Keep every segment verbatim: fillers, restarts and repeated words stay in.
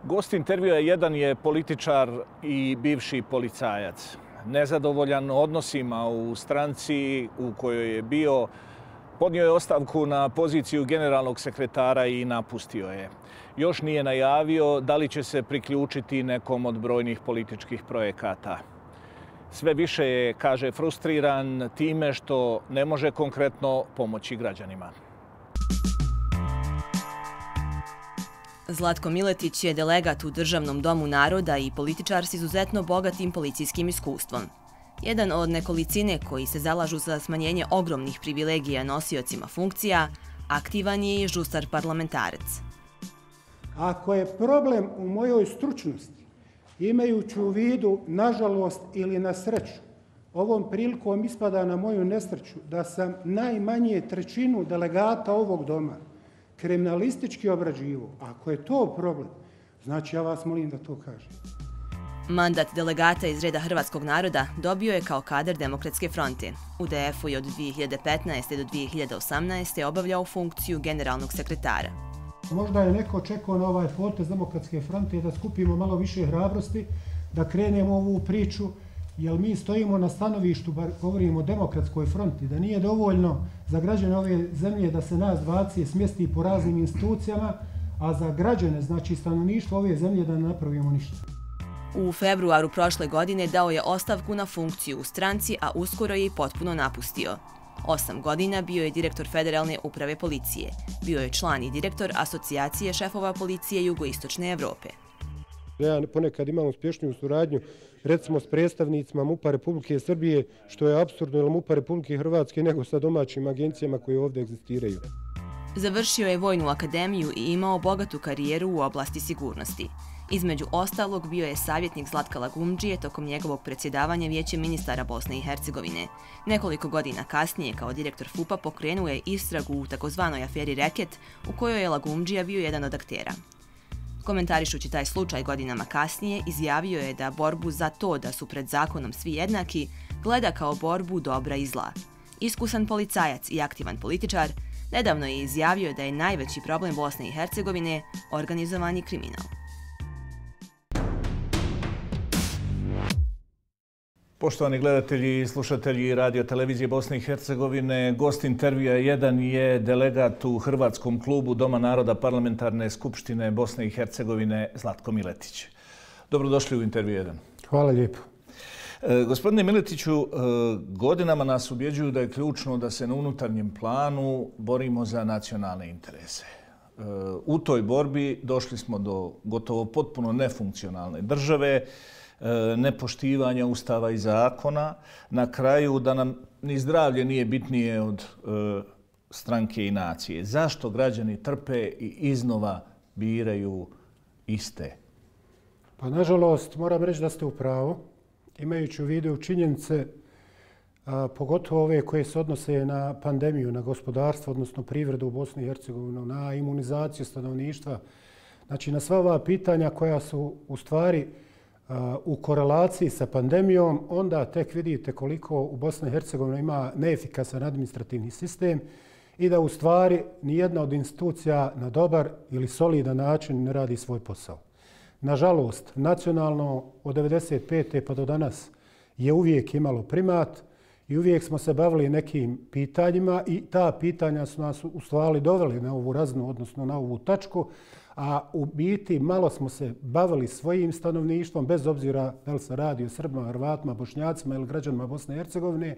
Gost intervjua jedan je političar i bivši policajac. Nezadovoljan odnosima u stranci u kojoj je bio, podnio je ostavku na poziciju generalnog sekretara i napustio je. Još nije najavio da li će se priključiti nekom od brojnih političkih projekata. Sve više je, kaže, frustriran time što ne može konkretno pomoći građanima. Zlatko Miletić je delegat u Državnom domu naroda i političar s izuzetno bogatim policijskim iskustvom. Jedan od nekolicine koji se zalažu za smanjenje ogromnih privilegija nosiocima funkcija, aktivan je i žustar parlamentarac. Ako je problem u mojoj stručnosti, imajući u vidu, nažalost ili na sreću, ovom prilikom ispada na moju nesreću da sam najmanje trećinu delegata ovog doma kriminalistički obrađivo. Ako je to problem, znači ja vas molim da to kažem. Mandat delegata iz reda hrvatskog naroda dobio je kao kadar Demokratske fronte. U D F-u je od dvije hiljade petnaeste. do dvije hiljade osamnaeste. obavljao funkciju generalnog sekretara. Možda je neko čekao na ovaj potez Demokratske fronte da skupimo malo više hrabrosti, da krenemo ovu priču, jer mi stojimo na stanovištu, bar govorimo o Demokratskoj fronti, da nije dovoljno za građane ove zemlje da se nas dvaci smjesti po raznim institucijama, a za građane, znači stanovništvo ove zemlje, da ne napravimo ništa. U februaru prošle godine dao je ostavku na funkciju u stranci, a uskoro je i potpuno napustio. Osam godina bio je direktor Federalne uprave policije. Bio je član i direktor Asocijacije šefova policije Jugoistočne Evrope. Ja ponekad imam uspješniju suradnju, recimo s predstavnicima MUP-a Republike Srbije, što je apsurdno, jer MUP-a Republike Hrvatske nego sa domaćim agencijama koje ovdje egzistiraju. Završio je Vojnu akademiju i imao bogatu karijeru u oblasti sigurnosti. Između ostalog bio je savjetnik Zlatka Lagumdžije tokom njegovog predsjedavanja Vijećem ministara Bosne i Hercegovine. Nekoliko godina kasnije kao direktor F U P-a pokrenuo je istragu u takozvanoj aferi Reket, u kojoj je Lagumdžija bio jedan od aktera. Komentarišući taj slučaj godinama kasnije, izjavio je da borbu za to da su pred zakonom svi jednaki gleda kao borbu dobra i zla. Iskusan policajac i aktivan političar, nedavno je izjavio da je najveći problem Bosne i Hercegovine organizovani kriminal. Poštovani gledatelji i slušatelji radio televizije Bosne i Hercegovine, gost intervjua jedan je delegat u Hrvatskom klubu Doma naroda Parlamentarne skupštine Bosne i Hercegovine Zlatko Miletić. Dobrodošli u intervju jedan. Hvala lijepo. E, gospodine Miletiću, e, godinama nas ubjeđuju da je ključno da se na unutarnjem planu borimo za nacionalne interese. E, u toj borbi došli smo do gotovo potpuno nefunkcionalne države, nepoštivanja ustava i zakona, na kraju da nam ni zdravlje nije bitnije od e, stranke i nacije. Zašto građani trpe i iznova biraju iste? Pa nažalost, moram reći da ste u pravu, imajući u vidu činjenice, a, pogotovo ove koje se odnose na pandemiju, na gospodarstvo, odnosno privredu u Bosni i Hercegovini, na imunizaciju stanovništva, znači na sva ova pitanja koja su u stvari u korelaciji sa pandemijom, onda tek vidite koliko u Bosni i Hercegovini ima neefikasan administrativni sistem i da u stvari nijedna od institucija na dobar ili solidan način ne radi svoj posao. Nažalost, nacionalno od devedeset pete pa do danas je uvijek imalo primat i uvijek smo se bavili nekim pitanjima i ta pitanja su nas u stvari doveli na ovu raznu, odnosno na ovu tačku, a u biti malo smo se bavili svojim stanovništvom, bez obzira da li se radi o Srbima, Hrvatima, Bošnjacima ili građanima Bosne i Hercegovine,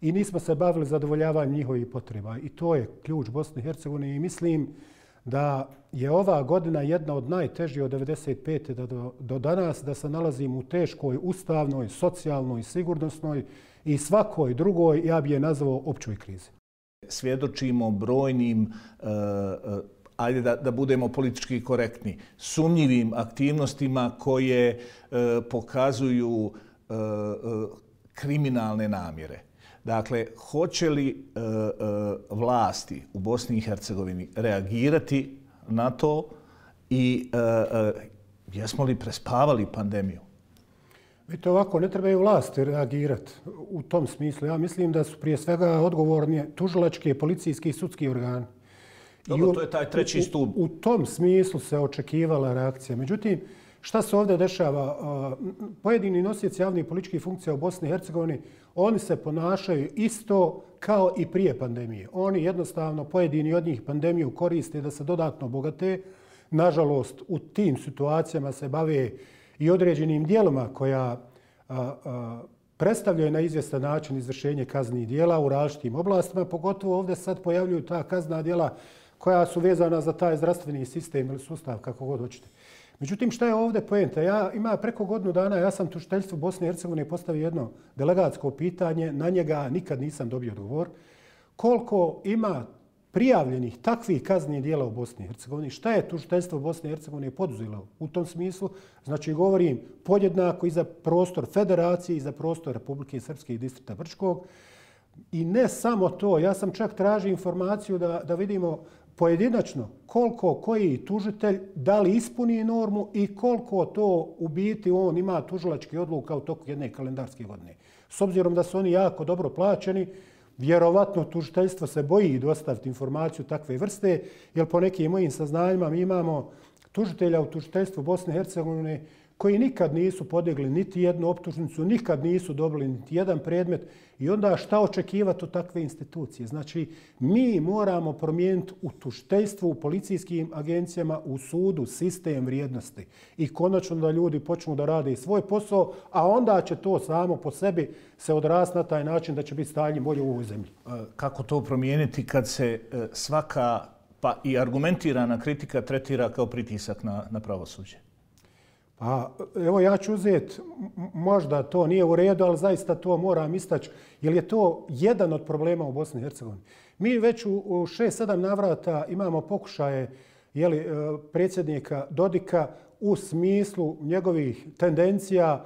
i nismo se bavili zadovoljavanjem njihovih potreba. I to je ključ Bosne i Hercegovine i mislim da je ova godina jedna od najtežih od devedeset pete do, do danas, da se nalazimo u teškoj ustavnoj, socijalnoj, sigurnosnoj i svakoj drugoj, ja bi je nazvao, općoj krizi. Svjedočimo brojnim uh, ajde da, da budemo politički korektni, sumnjivim aktivnostima koje e, pokazuju e, e, kriminalne namjere. Dakle, hoće li e, e, vlasti u Bosni i Hercegovini reagirati na to i e, e, jesmo li prespavali pandemiju? Vidite ovako, ne trebaju vlasti reagirati u tom smislu. Ja mislim da su prije svega odgovorni tužilački, policijski i sudski organi. Dobro, to je taj treći stup. U, u, u tom smislu se očekivala reakcija. Međutim, šta se ovdje dešava? Pojedini nosioci javnih političkih funkcija u Bosni i Hercegovini, oni se ponašaju isto kao i prije pandemije. Oni jednostavno, pojedini od njih pandemiju koriste da se dodatno obogate. Nažalost, u tim situacijama se bave i određenim dijelima koja a, a, predstavljaju na izvjestan način izvršenje kaznih dijela u različitim oblastima. Pogotovo ovdje sad pojavljuju ta kazna dijela koja su vezana za taj zdravstveni sistem ili sustav, kako god hoćete. Međutim, šta je ovdje poenta? Ja ima preko godinu dana, ja sam tužiteljstvu Bosne i Hercegovine postavio jedno delegatsko pitanje, na njega nikad nisam dobio odgovor. Koliko ima prijavljenih takvih kaznih dijela u Bosni i Hercegovini? Šta je tužiteljstvo Bosne i Hercegovine poduzelo u tom smislu? Znači, govorim podjednako i za prostor Federacije i za prostor Republike Srpske i distrikta Brčkog. I ne samo to, ja sam čak tražio informaciju da, da vidimo pojedinačno koliko koji tužitelj da li ispuni normu i koliko to u biti on ima tužilački odluka u toku jedne kalendarske godine. S obzirom da su oni jako dobro plaćeni, vjerovatno tužiteljstvo se boji dostaviti informaciju takve vrste, jer po nekim mojim saznanjima mi imamo tužitelja u tužiteljstvu Bosne i Hercegovine koji nikad nisu podigli niti jednu optužnicu, nikad nisu dobili niti jedan predmet i onda šta očekivati od takve institucije? Znači, mi moramo promijeniti u tužiteljstvu, u policijskim agencijama, u sudu sistem vrijednosti i konačno da ljudi počnu da rade svoj posao, a onda će to samo po sebi se odrasti na taj način da će biti stanje bolje u ovoj zemlji. Kako to promijeniti kad se svaka pa i argumentirana kritika tretira kao pritisak na, na pravosuđe? Pa, evo ja ću uzeti, možda to nije u redu, ali zaista to moram istaći, jer je to jedan od problema u Bosni i Hercegovini. Mi već u šest sedam navrata imamo pokušaje jeli, predsjednika Dodika u smislu njegovih tendencija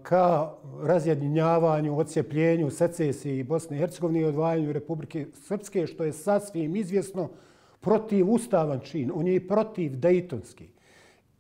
ka razjedinjavanju, odcijepljenju, secesiji Bosne i Hercegovine i odvajanju Republike Srpske, što je sasvim izvjesno protivustavan čin. On je i protiv dejtonski.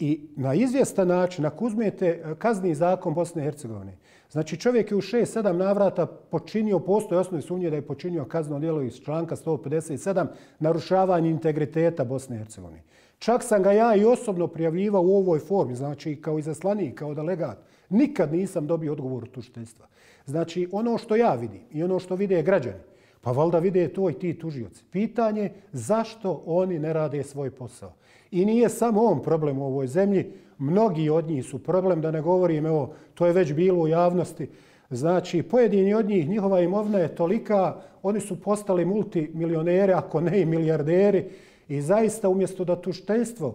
I na izvjestan način, ako uzmete kazni zakon Bosne i Hercegovine, znači čovjek je u šest sedam navrata počinio, postoje osnovne sumnje da je počinio kazneno djelo iz članka sto pedeset sedam, narušavanje integriteta Bosne i Hercegovine. Čak sam ga ja i osobno prijavljivao u ovoj formi, znači kao izaslanik, kao delegat. Nikad nisam dobio odgovor od tužiteljstva. Znači ono što ja vidim i ono što vide građani, pa valjda vide to i ti tužioci. Pitanje zašto oni ne rade svoj posao. I nije samo on problem u ovoj zemlji, mnogi od njih su problem, da ne govorim, evo, to je već bilo u javnosti. Znači, pojedini od njih, njihova imovina je tolika, oni su postali multimilioneri, ako ne i milijarderi. I zaista umjesto da tužiteljstvo,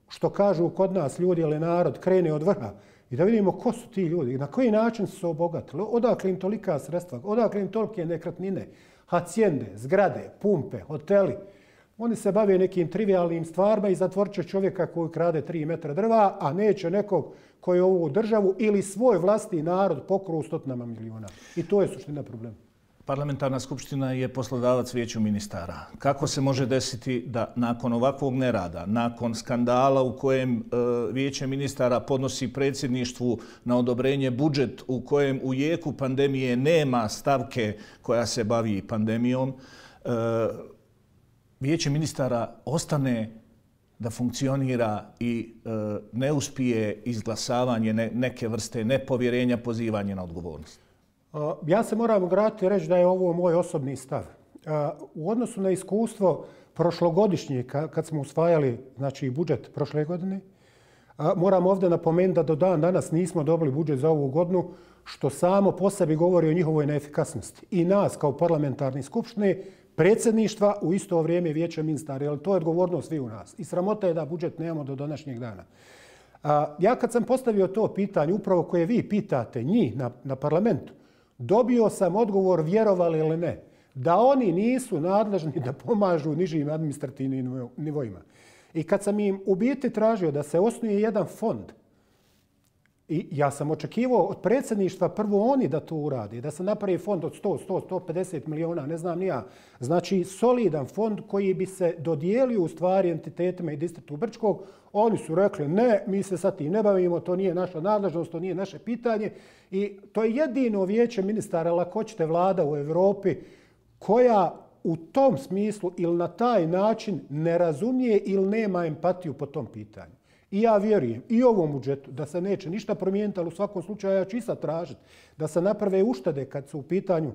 što kažu kod nas ljudi ili narod, krene od vrha i da vidimo ko su ti ljudi, na koji način su se obogatili, odakle im tolika sredstva, odakle im tolike nekretnine, hacijende, zgrade, pumpe, hoteli. Oni se bave nekim trivialnim stvarima i zatvorit će čovjeka koji krade tri metra drva, a neće nekog koji je ovu državu ili svoj vlastni narod pokru stotinama miliona. I to je suština problema. Parlamentarna skupština je poslodavac vijeću ministara. Kako se može desiti da nakon ovakvog nerada, nakon skandala u kojem e, vijeće ministara podnosi predsjedništvu na odobrenje budžet u kojem u jeku pandemije nema stavke koja se bavi pandemijom, e, vijeće ministara ostane da funkcionira i e, ne uspije izglasavanje ne, neke vrste nepovjerenja, pozivanje na odgovornost? Ja se moram ograditi i reći da je ovo moj osobni stav. U odnosu na iskustvo prošlogodišnje, kad smo usvajali znači, budžet prošle godine, moram ovdje napomenuti da do dan danas nismo dobili budžet za ovu godinu, što samo po sebi govori o njihovoj neefikasnosti. I nas kao parlamentarni skupštine, predsjedništva u isto vrijeme vijeća ministara, jer to je odgovornost svi u nas. I sramota je da budžet nemamo do današnjeg dana. Ja kad sam postavio to pitanje, upravo koje vi pitate njih na, na parlamentu, dobio sam odgovor, vjerovali ili ne, da oni nisu nadležni da pomažu nižim administrativnim nivoima. I kad sam im u biti tražio da se osnuje jedan fond, i ja sam očekivao od predsjedništva prvo oni da to urade, da se napravi fond od sto, sto, sto pedeset miliona, ne znam ni ja. Znači solidan fond koji bi se dodijelio u stvari entitetima i distriktu Brčkog. Oni su rekli ne, mi se sa tim ne bavimo, to nije naša nadležnost, to nije naše pitanje. I to je jedino vijeće ministara, ako hoćete, vlada u Evropi koja u tom smislu ili na taj način ne razumije ili nema empatiju po tom pitanju. I ja vjerujem i ovom budžetu da se neće ništa promijeniti, ali u svakom slučaju ja ću i sad tražiti da se naprave uštede kad su u pitanju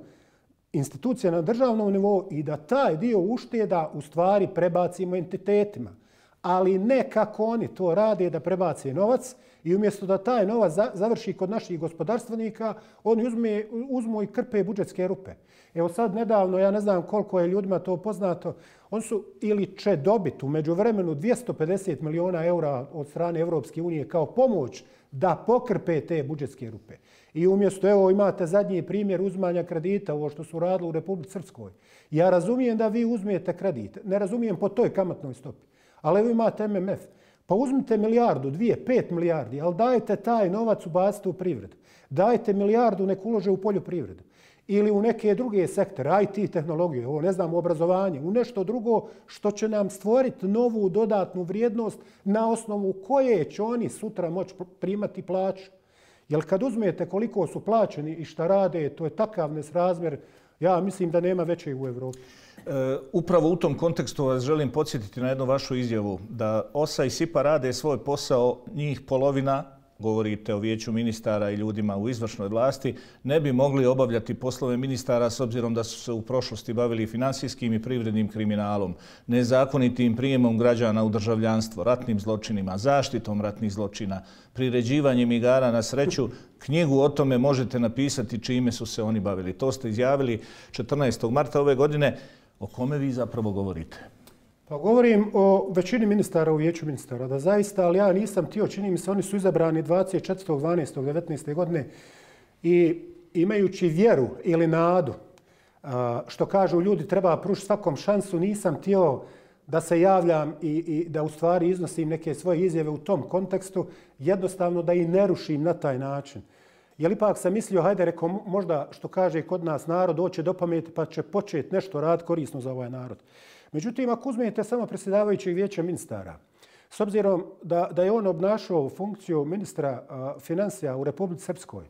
institucije na državnom nivou i da taj dio ušteda u stvari prebacimo entitetima. Ali ne kako oni to rade da prebace novac i umjesto da taj novac završi kod naših gospodarstvenika, oni uzme, uzmu i krpe budžetske rupe. Evo sad nedavno, ja ne znam koliko je ljudima to poznato, oni su ili će dobiti u međuvremenu dvjesto pedeset miliona eura od strane Evropske unije kao pomoć da pokrpe te budžetske rupe. I umjesto, evo imate zadnji primjer uzmanja kredita, ovo što su radili u Republici Srpskoj. Ja razumijem da vi uzmijete kredit, ne razumijem po toj kamatnoj stopi. Ali evo imate M M F. Pa uzmite milijardu, dvije, pet milijardi, ali dajte taj novac ubacite u privredu. Dajte milijardu nek ulože u poljoprivredu. Ili u neke druge sektore, I T tehnologije, ovo ne znam, obrazovanje, u nešto drugo što će nam stvoriti novu dodatnu vrijednost na osnovu koje će oni sutra moći primati plaću. Jer kad uzmete koliko su plaćeni i šta rade, to je takav nesrazmjer, ja mislim da nema većeg u Evropi. E, upravo u tom kontekstu vas želim podsjetiti na jednu vašu izjavu da O S A i S I P A rade svoj posao, njih polovina, govorite o vijeću ministara i ljudima u izvršnoj vlasti, ne bi mogli obavljati poslove ministara s obzirom da su se u prošlosti bavili finansijskim i privrednim kriminalom, nezakonitim prijemom građana u državljanstvo, ratnim zločinima, zaštitom ratnih zločina, priređivanjem igara na sreću. Knjigu o tome možete napisati čime su se oni bavili. To ste izjavili četrnaestog marta ove godine. O kome vi zapravo govorite? Pa govorim o većini ministara u vijeću ministara, da zaista, ali ja nisam htio, čini mi se, oni su izabrani dvadeset četvrtog dvanaestog devetnaeste godine i imajući vjeru ili nadu, što kažu ljudi treba pružiti svakom šansu, nisam htio da se javljam i, i da u stvari iznosim neke svoje izjave u tom kontekstu, jednostavno da i ne rušim na taj način. Jer ipak sam mislio, hajde, rekao, možda što kaže kod nas narod, doće do pameti pa će početi nešto raditi korisno za ovaj narod. Međutim, ako uzmete samo predsjedavajućeg vijeća ministara, s obzirom da, da je on obnašao funkciju ministra uh, financija u Republici Srpskoj,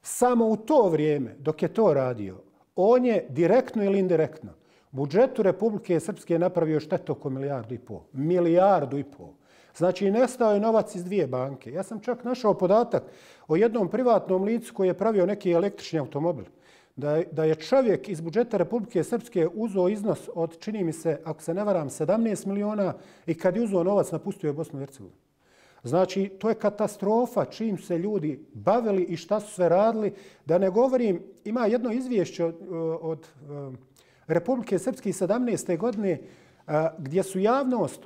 samo u to vrijeme dok je to radio, on je direktno ili indirektno budžetu Republike Srpske napravio štetu oko milijardu i pol. Milijardu i pol. Znači, nestao je novac iz dvije banke. Ja sam čak našao podatak o jednom privatnom licu koji je pravio neki električni automobil. Da, da je čovjek iz budžeta Republike Srpske uzeo iznos od, čini mi se, ako se ne varam, sedamnaest miliona i kad je uzeo novac napustio je Bosnu i Hercegovinu. Znači, to je katastrofa čim se ljudi bavili i šta su sve radili. Da ne govorim, ima jedno izvješće od, od Republike Srpske sedamnaeste godine gdje su javnost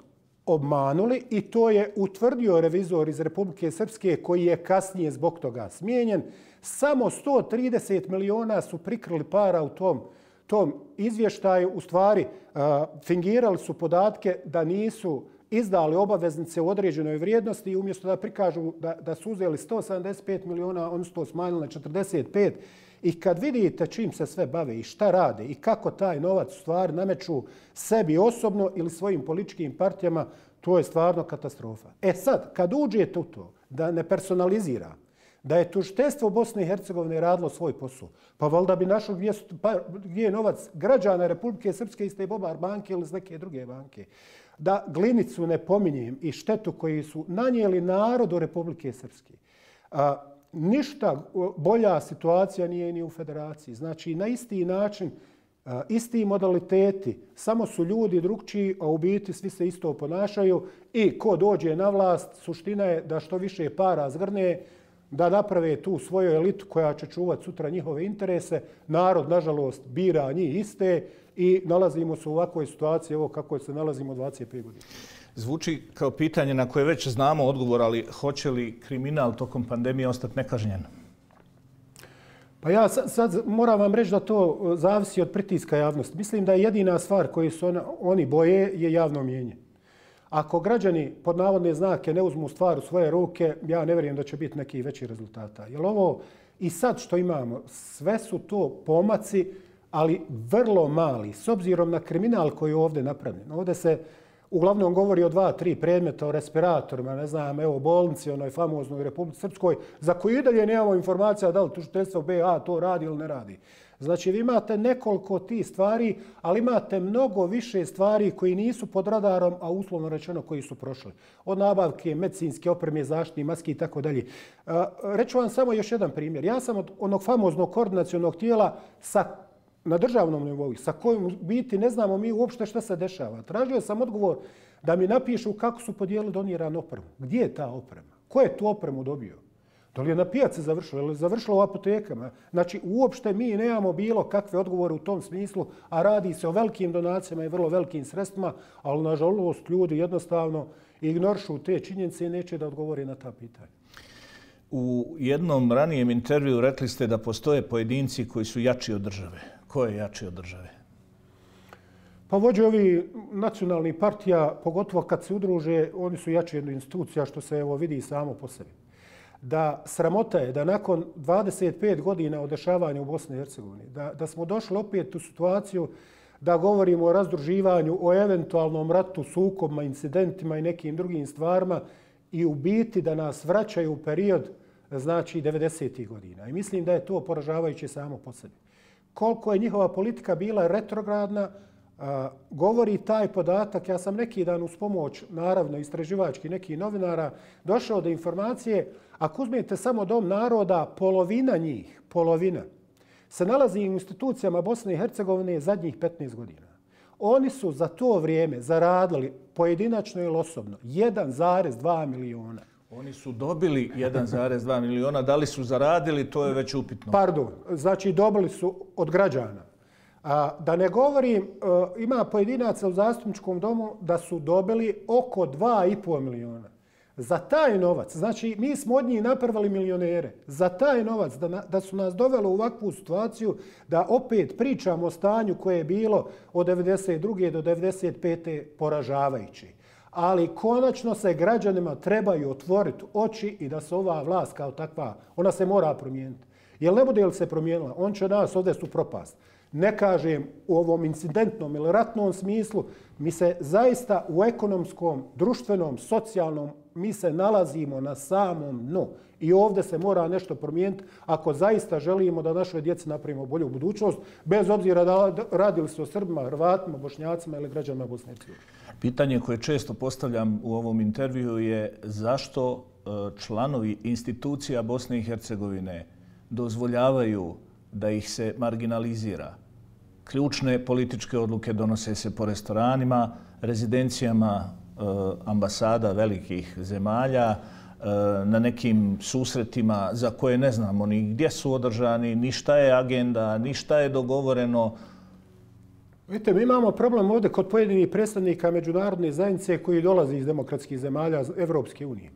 obmanuli i to je utvrdio revizor iz Republike Srpske koji je kasnije zbog toga smijenjen. Samo sto trideset miliona su prikrili para u tom, tom izvještaju. U stvari, uh, fingirali su podatke da nisu izdali obaveznice u određenoj vrijednosti i umjesto da prikažu da, da su uzeli sto sedamdeset pet miliona, oni su to smanjili na četrdeset pet. I kad vidite čim se sve bave i šta rade i kako taj novac u stvari nameću sebi osobno ili svojim političkim partijama, to je stvarno katastrofa. E sad, kad uđete u to da ne personalizira, da je tužiteljstvo Bosne i Hercegovine radilo svoj posao, pa valjda bi našlo gdje, pa, gdje je novac građana Republike Srpske iz te Bobar banke ili iz neke druge banke. Da Glinicu ne pominjem i štetu koju su nanijeli narodu Republike Srpske. A, ništa bolja situacija nije ni u federaciji. Znači, na isti način, a, isti modaliteti, samo su ljudi drugčiji, a u biti svi se isto ponašaju i ko dođe na vlast, suština je da što više para zgrne, da naprave tu svoju elitu koja će čuvati sutra njihove interese. Narod, nažalost, bira njih iste i nalazimo se u ovakvoj situaciji, evo kako se nalazimo dvadeset pet godina. Zvuči kao pitanje na koje već znamo odgovor, ali hoće li kriminal tokom pandemije ostati nekažnjen? Pa ja sad, sad moram vam reći da to zavisi od pritiska javnosti. Mislim da je jedina stvar koju su ona, oni boje je javno mnijenje. Ako građani pod navodne znake ne uzmu stvar u svoje ruke, ja ne vjerujem da će biti neki veći rezultata. Jer ovo i sad što imamo, sve su to pomaci, ali vrlo mali, s obzirom na kriminal koji je ovdje napravljen. Ovdje se uglavnom govori o dva, tri predmeta, o respiratorima, ne znam, evo, bolnici, onoj famoznoj Republici Srpskoj, za koju i dalje nemamo informacija da li tužiteljstvo B A to radi ili ne radi. Znači, vi imate nekoliko tih stvari, ali imate mnogo više stvari koji nisu pod radarom, a uslovno rečeno koji su prošli. Od nabavke medicinske opreme, zaštitne maske i tako dalje. Reću vam samo još jedan primjer. Ja sam od onog famoznog koordinacionog tijela sa, na državnom nivou, sa kojim u biti ne znamo mi uopšte šta se dešava. Tražio sam odgovor da mi napišu kako su podijelili doniranu opremu. Gdje je ta oprema? Ko je tu opremu dobio? Da li je na pijaci završilo ili je završilo u apotekama? Znači, uopšte mi nemamo bilo kakve odgovore u tom smislu, a radi se o velikim donacijama i vrlo velikim sredstvima, ali nažalost ljudi jednostavno ignorišu te činjenice i neće da odgovore na ta pitanja. U jednom ranijem intervju rekli ste da postoje pojedinci koji su jači od države. Ko je jači od države? Pa vođe ovi nacionalnih partija, pogotovo kad se udruže, oni su jači od institucija, što se evo vidi samo po sebi. Da sramota je da nakon dvadeset pet godina od dešavanja u Bosni i Hercegovini, da, da smo došli opet u situaciju da govorimo o razdruživanju, o eventualnom ratu, sukobima, incidentima i nekim drugim stvarima i u biti da nas vraćaju u period, znači, devedesetih godina. I mislim da je to poražavajuće samo po sebi. Koliko je njihova politika bila retrogradna, a, govori taj podatak. Ja sam neki dan uz pomoć, naravno, istraživački nekih novinara, došao do informacije. Ako uzmete samo Dom naroda, polovina njih, polovina, se nalazi u institucijama Bosne i Hercegovine zadnjih petnaest godina. Oni su za to vrijeme zaradili pojedinačno ili osobno jedan zarez dva miliona. Oni su dobili jedan zarez dva miliona, da li su zaradili, to je već upitno. Pardon, znači dobili su od građana. A, da ne govorim, ima pojedinaca u zastupničkom domu da su dobili oko dva i pol miliona. Za taj novac, znači mi smo od njih napravili milionere, za taj novac da, na, da su nas doveli u ovakvu situaciju da opet pričamo o stanju koje je bilo od devedeset druge do devedeset pete poražavajući. Ali konačno se građanima trebaju otvoriti oči i da se ova vlast kao takva, ona se mora promijeniti. Jer ne bude li se promijenila, on će nas ovdje su propast. Ne kažem u ovom incidentnom ili ratnom smislu, mi se zaista u ekonomskom, društvenom, socijalnom, mi se nalazimo na samom dnu. I ovdje se mora nešto promijeniti ako zaista želimo da našoj djeci napravimo bolju budućnost, bez obzira da radili se o Srbima, Hrvatima, Bošnjacima ili građanima Bosne i Hercegovine. Pitanje koje često postavljam u ovom intervju je zašto članovi institucija Bosne i Hercegovine dozvoljavaju da ih se marginalizira. Ključne političke odluke donose se po restoranima, rezidencijama ambasada velikih zemalja, na nekim susretima za koje ne znamo ni gdje su održani, ni šta je agenda, ni šta je dogovoreno. Vidite, mi imamo problem ovdje kod pojedinih predstavnika međunarodne zajednice koji dolazi iz demokratskih zemalja Evropske unije,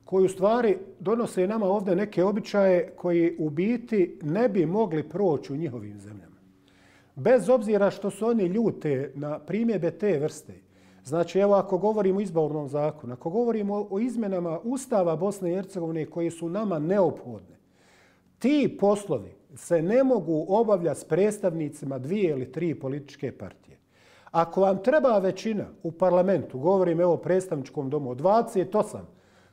koji u stvari donose nama ovdje neke običaje koji u biti ne bi mogli proći u njihovim zemljama. Bez obzira što su oni ljute na primjedbe te vrste. Znači, evo, ako govorimo o izbornom zakonu, ako govorimo o izmjenama Ustava Bosne i Hercegovine koji su nama neophodne, ti poslovi se ne mogu obavljati s predstavnicima dvije ili tri političke partije. Ako vam treba većina u parlamentu, govorim evo o predstavničkom domu, od dvadeset osam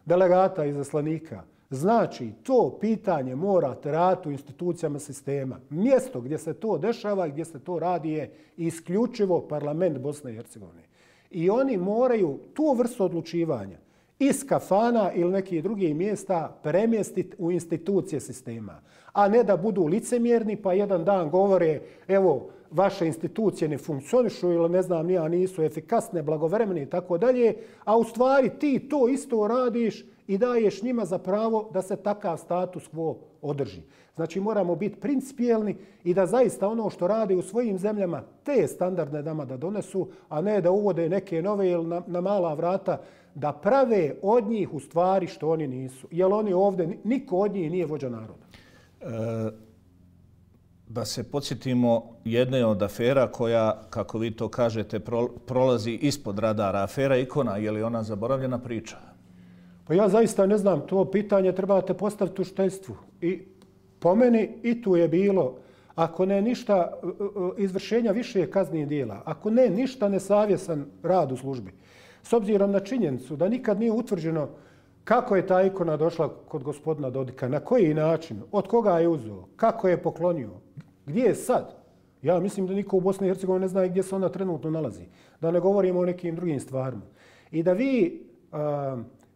delegata i zaslanika, znači to pitanje morate raditi u institucijama sistema. Mjesto gdje se to dešava i gdje se to radi je isključivo parlament Bosne i Hercegovine. I oni moraju tu vrstu odlučivanja iz kafana ili nekih drugih mjesta premjestiti u institucije sistema. A ne da budu licemjerni pa jedan dan govore evo vaše institucije ne funkcionišu ili ne znam nija nisu efikasne, blagovremene i tako dalje, a u stvari ti to isto radiš i daješ njima za pravo da se takav status quo održi. Znači moramo biti principijelni i da zaista ono što rade u svojim zemljama te standardne nama da donesu, a ne da uvode neke nove ili na, na mala vrata da prave od njih u stvari što oni nisu. Jer oni ovdje, niko od njih nije vođa naroda. E, da se podsjetimo jedne od afera koja, kako vi to kažete, pro, prolazi ispod radara. Afera Ikona, je li ona zaboravljena priča? Pa ja zaista ne znam, to pitanje trebate postaviti tužiteljstvu. I po meni i tu je bilo, ako ne ništa izvršenja više kaznih dijela, ako ne ništa nesavjesan rad u službi, s obzirom na činjenicu da nikad nije utvrđeno kako je ta ikona došla kod gospodina Dodika, na koji način, od koga je uzeo, kako je poklonio, Gdje je sad? Ja mislim da niko u Bosni i Hercegovini ne zna gdje se ona trenutno nalazi. Da ne govorimo o nekim drugim stvarima. I da vi uh,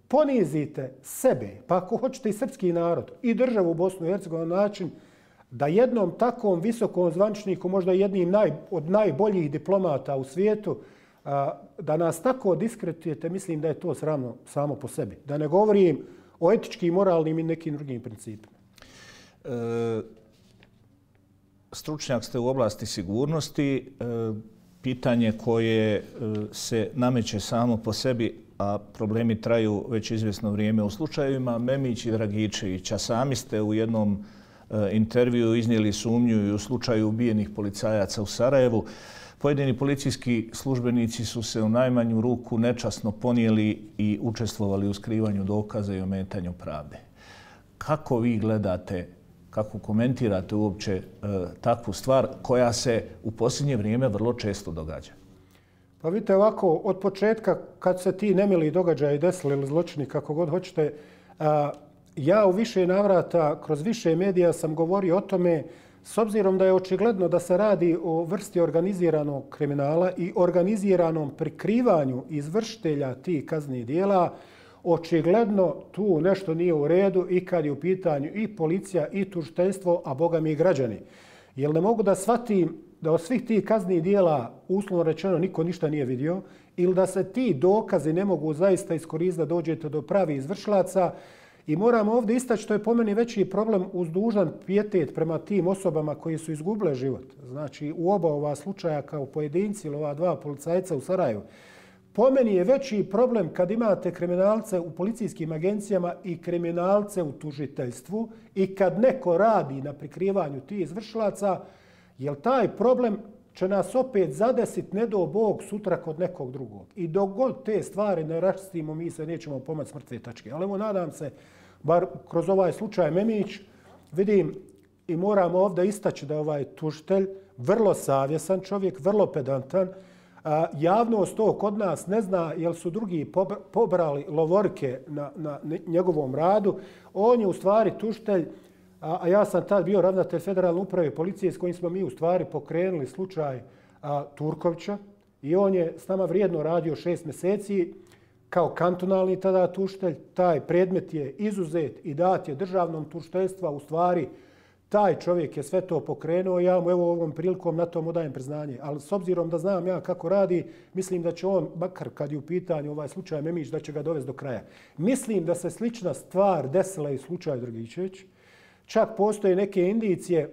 ponizite sebe, pa ako hoćete i srpski narod, i državu u Bosnu i Hercegovini na način da jednom takvom visokom zvaničniku, možda jednim naj, od najboljih diplomata u svijetu, a, da nas tako diskretujete, mislim da je to sramno samo po sebi. Da ne govorim o etičkim, moralnim i nekim drugim principima. E, stručnjak ste u oblasti sigurnosti. E, pitanje koje e, se nameće samo po sebi, a problemi traju već izvjesno vrijeme u slučajevima Memić i Dragičevića. Sami ste u jednom intervju iznijeli sumnju i u slučaju ubijenih policajaca u Sarajevu. Pojedini policijski službenici su se u najmanju ruku nečasno ponijeli i učestvovali u skrivanju dokaza i ometanju pravde. Kako vi gledate, kako komentirate uopće e, takvu stvar koja se u posljednje vrijeme vrlo često događa? Pa vidite ovako, od početka kad se ti nemili događaji desili ili zločini, kako god hoćete, a, ja u više navrata, kroz više medija sam govorio o tome, s obzirom da je očigledno da se radi o vrsti organiziranog kriminala i organiziranom prikrivanju izvršitelja tih kaznenih dijela, očigledno tu nešto nije u redu i kad je u pitanju i policija i tužiteljstvo, a boga mi i građani. Jer ne mogu da shvatim da od svih tih kaznenih dijela, uslovno rečeno, niko ništa nije vidio, ili da se ti dokazi ne mogu zaista iskoristiti da dođete do pravih izvršilaca. I moram ovdje istaći što je po meni veći problem uz dužan pijetet prema tim osobama koji su izgubile život. Znači u oba ova slučaja kao pojedinci ili ova dva policajca u Sarajevu. Po meni je veći problem kad imate kriminalce u policijskim agencijama i kriminalce u tužiteljstvu i kad neko radi na prikrivanju tih izvršilaca, jer taj problem će nas opet zadesiti, ne do Bog, sutra kod nekog drugog. I dok god te stvari ne raščistimo, mi se nećemo pomoći s mrtve tačke. Ali evo, nadam se, bar kroz ovaj slučaj Memić, vidim i moram ovdje istaći da je ovaj tužitelj vrlo savjesan čovjek, vrlo pedantan. A, javnost to kod nas ne zna jer su drugi pobrali lovorike na, na njegovom radu. On je u stvari tužitelj, a ja sam tad bio ravnatelj Federalne uprave policije s kojim smo mi u stvari pokrenuli slučaj a, Turkovića i on je s nama vrijedno radio šest mjeseci kao kantonalni tada tužitelj. Taj predmet je izuzet i dat je državnom tužiteljstvu. U stvari taj čovjek je sve to pokrenuo i ja mu evo ovom prilikom na tom odajem priznanje. Ali s obzirom da znam ja kako radi, mislim da će on, makar kad je u pitanju ovaj slučaj Memić, da će ga dovesti do kraja. Mislim da se slična stvar desila i u slučaju Dragičević. Čak postoje neke indicije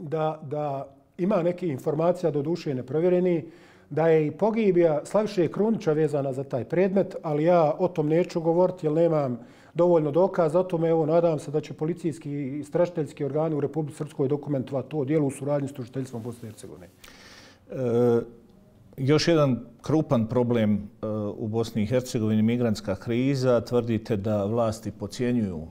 da, da ima neke informacija do duše neprovjereni, da je i pogibija Slaviše Krunića vezana za taj predmet, ali ja o tom neću govoriti jer nemam dovoljno dokaza. O tome evo, nadam se da će policijski i istražiteljski organi u Republici Srpskoj dokumentovati to djelo u suradnji s tužiteljstvom Bosne i Hercegovine. E, još jedan krupan problem e, u Bosni i Hercegovini, migrantska kriza. Tvrdite da vlasti podcjenjuju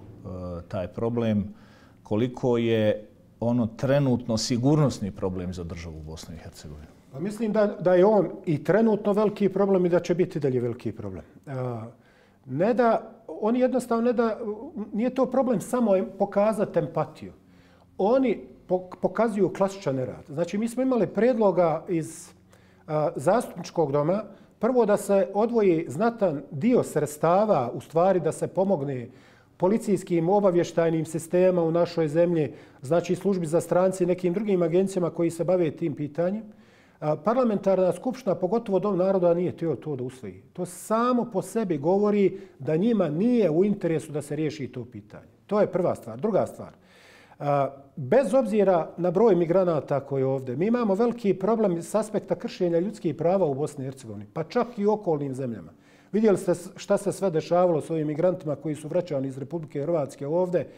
taj problem. Koliko je ono trenutno sigurnosni problem za državu Bosne i Hercegovine? Pa mislim da, da je on i trenutno veliki problem i da će biti dalje veliki problem. Ne da, oni jednostavno ne da, nije to problem samo pokazati empatiju. Oni pokazuju klasičan nerad. Znači mi smo imali predloga iz zastupničkog doma, prvo da se odvoji znatan dio sredstava, u stvari da se pomogne policijskim obavještajnim sistemama u našoj zemlji, znači službi za stranci i nekim drugim agencijama koji se bave tim pitanjem. Parlamentarna skupština, pogotovo Dom naroda, nije htio to da usvoji. To samo po sebi govori da njima nije u interesu da se riješi to pitanje. To je prva stvar. Druga stvar. Bez obzira na broj migranata koji je ovdje, mi imamo veliki problem s aspekta kršenja ljudskih prava u Bosni i Hercegovini, pa čak i u okolnim zemljama. Vidjeli ste šta se sve dešavalo s ovim migrantima koji su vraćani iz Republike Hrvatske ovdje.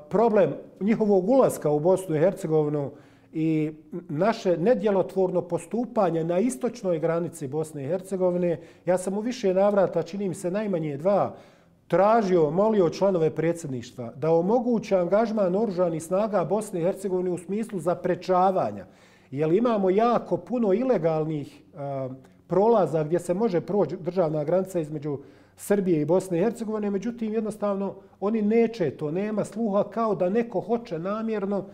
Problem njihovog ulaska u Bosnu i Hercegovinu i naše nedjelotvorno postupanje na istočnoj granici Bosne i Hercegovine. Ja sam u više navrata, čini mi se najmanje dva, tražio, molio članove predsjedništva da omoguće angažman oružanih snaga Bosne i Hercegovine u smislu zaprečavanja. Jer imamo jako puno ilegalnih a, prolaza gdje se može proći državna granica između Srbije i Bosne i Hercegovine, međutim jednostavno oni neće to, nema sluha, kao da neko hoće namjerno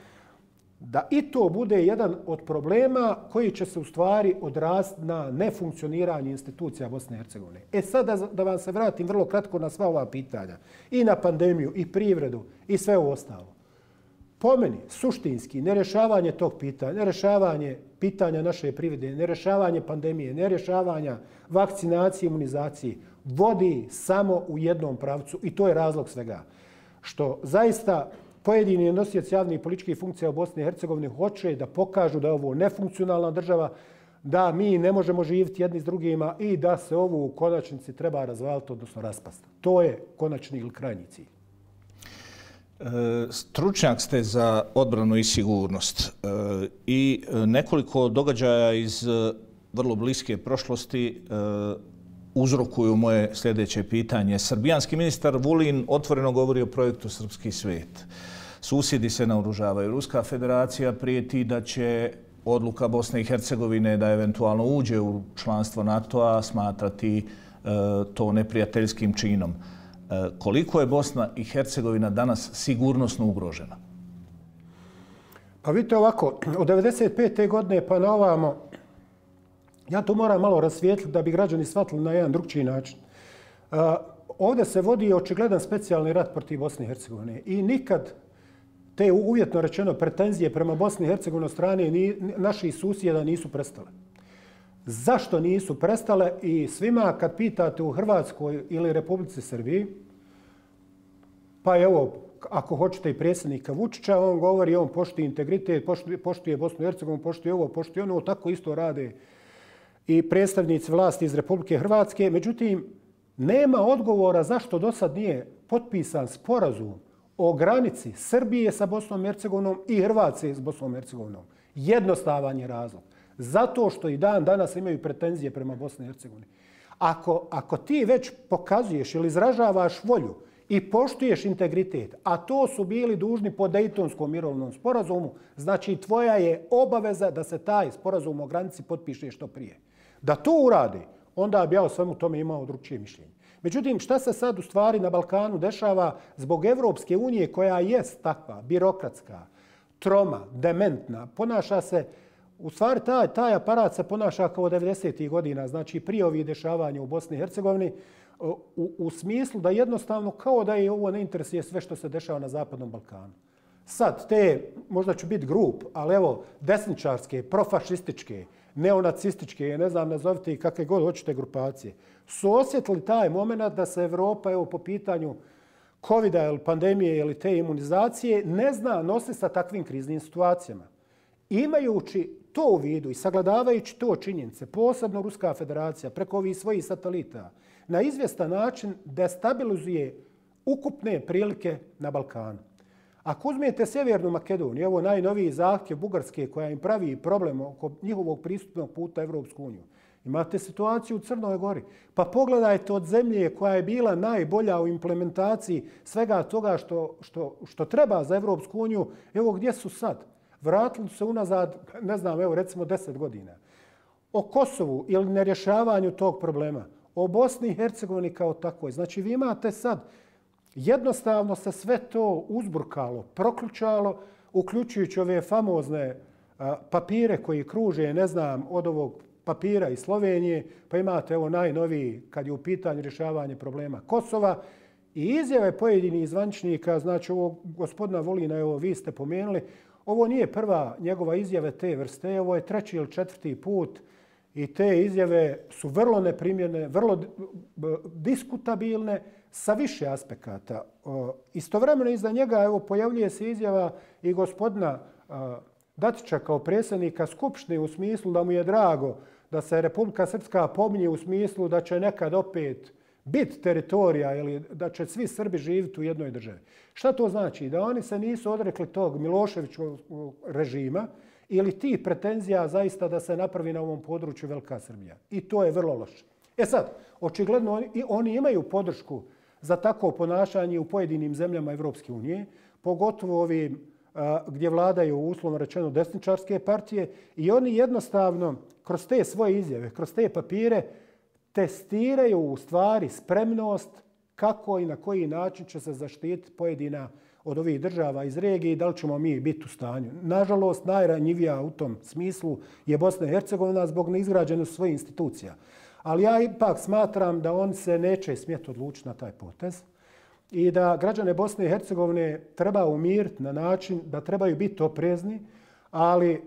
da i to bude jedan od problema koji će se u stvari odraziti na nefunkcioniranje institucija Bosne i Hercegovine. E sad da, da vam se vratim vrlo kratko na sva ova pitanja. I na pandemiju, i privredu, i sve ovo ostalo. Po meni, suštinski, nerješavanje tog pitanja, nerješavanje pitanja naše privrede, nerješavanje pandemije, nerješavanja vakcinacije, imunizacije, vodi samo u jednom pravcu i to je razlog svega. Što zaista pojedini nosioci javnih političkih funkcija u Bosni i Hercegovini hoće da pokažu da je ovo nefunkcionalna država, da mi ne možemo živjeti jedni s drugima i da se ovo u konačnici treba razvaliti, odnosno raspasti. To je konačni ili krajnji cilj. Stručnjak ste za odbranu i sigurnost i nekoliko događaja iz vrlo bliske prošlosti uzrokuju moje sljedeće pitanje. Srbijanski ministar Vulin otvoreno govori o projektu Srpski svet. Susjedi se naoružavaju. Ruska federacija prijeti da će odluka Bosne i Hercegovine da eventualno uđe u članstvo NATO-a smatrati to neprijateljskim činom. Koliko je Bosna i Hercegovina danas sigurnosno ugrožena? Pa vidite ovako, od devedeset pete godine pa na ovamo, ja to moram malo rasvijetliti da bi građani shvatili na jedan drugčiji način. Uh, ovdje se vodi očigledan specijalni rat protiv Bosne i Hercegovine i nikad te uvjetno rečeno pretenzije prema Bosni i Hercegovini od strane ni, naših susjeda nisu prestale. Zašto nisu prestale? I svima kad pitate u Hrvatskoj ili Republici Srbiji, pa evo, ako hoćete i predsjednika Vučića, on govori, on poštuje integritet, poštuje, poštuje Bosnu i Hercegovinu, poštuje ovo, poštuje ono, tako isto rade i predstavnici vlasti iz Republike Hrvatske. Međutim, nema odgovora zašto do sad nije potpisan sporazum o granici Srbije sa Bosnom i Hercegovinom i Hrvatske s Bosnom i Hercegovinom. Jednostavan je razlog. Zato što i dan danas imaju pretenzije prema Bosni i Hercegovini. Ako, ako ti već pokazuješ ili izražavaš volju i poštuješ integritet, a to su bili dužni po Dejtonskom mirovnom sporazumu, znači tvoja je obaveza da se taj sporazum o granici potpiše što prije. Da to uradi, onda bi ja o svemu tome imao drugčije mišljenje. Međutim, šta se sad u stvari na Balkanu dešava zbog Evropske unije koja jest takva, birokratska, troma, dementna, ponaša se, u stvari taj, taj aparat se ponaša kao devedesetih godina, znači prije ovih dešavanja u Bosni i Hercegovini, u, u smislu da jednostavno kao da je ovo ne interesuje sve što se dešava na Zapadnom Balkanu. Sad, te, možda ću biti grup, ali evo, desničarske, profašističke, neonacističke, ne znam, nazovite i kakve god hoćete grupacije, su osjetili taj moment da se Evropa, evo, po pitanju kovida ili pandemije ili te imunizacije, ne zna nositi sa takvim kriznim situacijama. Imajući to u vidu i sagledavajući to činjenice, posebno Ruska federacija preko ovih svojih satelita, na izvjestan način destabilizuje ukupne prilike na Balkanu. Ako uzmete Sjevernu Makedoniju, ovo najnoviji zahtjev Bugarske koja im pravi problem oko njihovog pristupnog puta Evropsku uniju, imate situaciju u Crnoj Gori. Pa pogledajte od zemlje koja je bila najbolja u implementaciji svega toga što, što, što treba za Evropsku uniju, evo gdje su sad. Vratili se unazad, ne znam, evo recimo deset godina. O Kosovu ili nerješavanju tog problema, o Bosni i Hercegovini kao takvoj. Znači vi imate sad, jednostavno se sve to uzburkalo, proključalo, uključujući ove famozne a, papire koji kruže, ne znam, od ovog papira iz Slovenije, pa imate evo najnoviji kad je u pitanju rješavanje problema Kosova i izjave pojedinih zvaničnika, znači ovog gospodina Vulina, evo vi ste pomenuli, ovo nije prva njegova izjave te vrste, ovo je treći ili četvrti put i te izjave su vrlo neprimjerne, vrlo diskutabilne sa više aspekata. Istovremeno iza njega evo, pojavljuje se izjava i gospodina Dačića kao predsjednika Skupštine u smislu da mu je drago da se Republika Srpska pominje u smislu da će nekad opet biti teritorija ili da će svi Srbi živjeti u jednoj državi. Šta to znači? Da oni se nisu odrekli tog Miloševićevog režima ili tih pretenzija zaista da se napravi na ovom području Velika Srbija. I to je vrlo loše. E sad, očigledno oni, oni imaju podršku za takvo ponašanje u pojedinim zemljama Evropske unije, pogotovo ovim gdje vladaju uslovno rečeno desničarske partije i oni jednostavno kroz te svoje izjave, kroz te papire testiraju u stvari spremnost kako i na koji način će se zaštititi pojedina od ovih država iz regije i da li ćemo mi biti u stanju. Nažalost, najranjivija u tom smislu je Bosna i Hercegovina zbog neizgrađenosti svojih institucija. Ali ja ipak smatram da on se neće smjeti odlučiti na taj potez i da građane Bosne i Hercegovine treba umiriti na način da trebaju biti oprezni, ali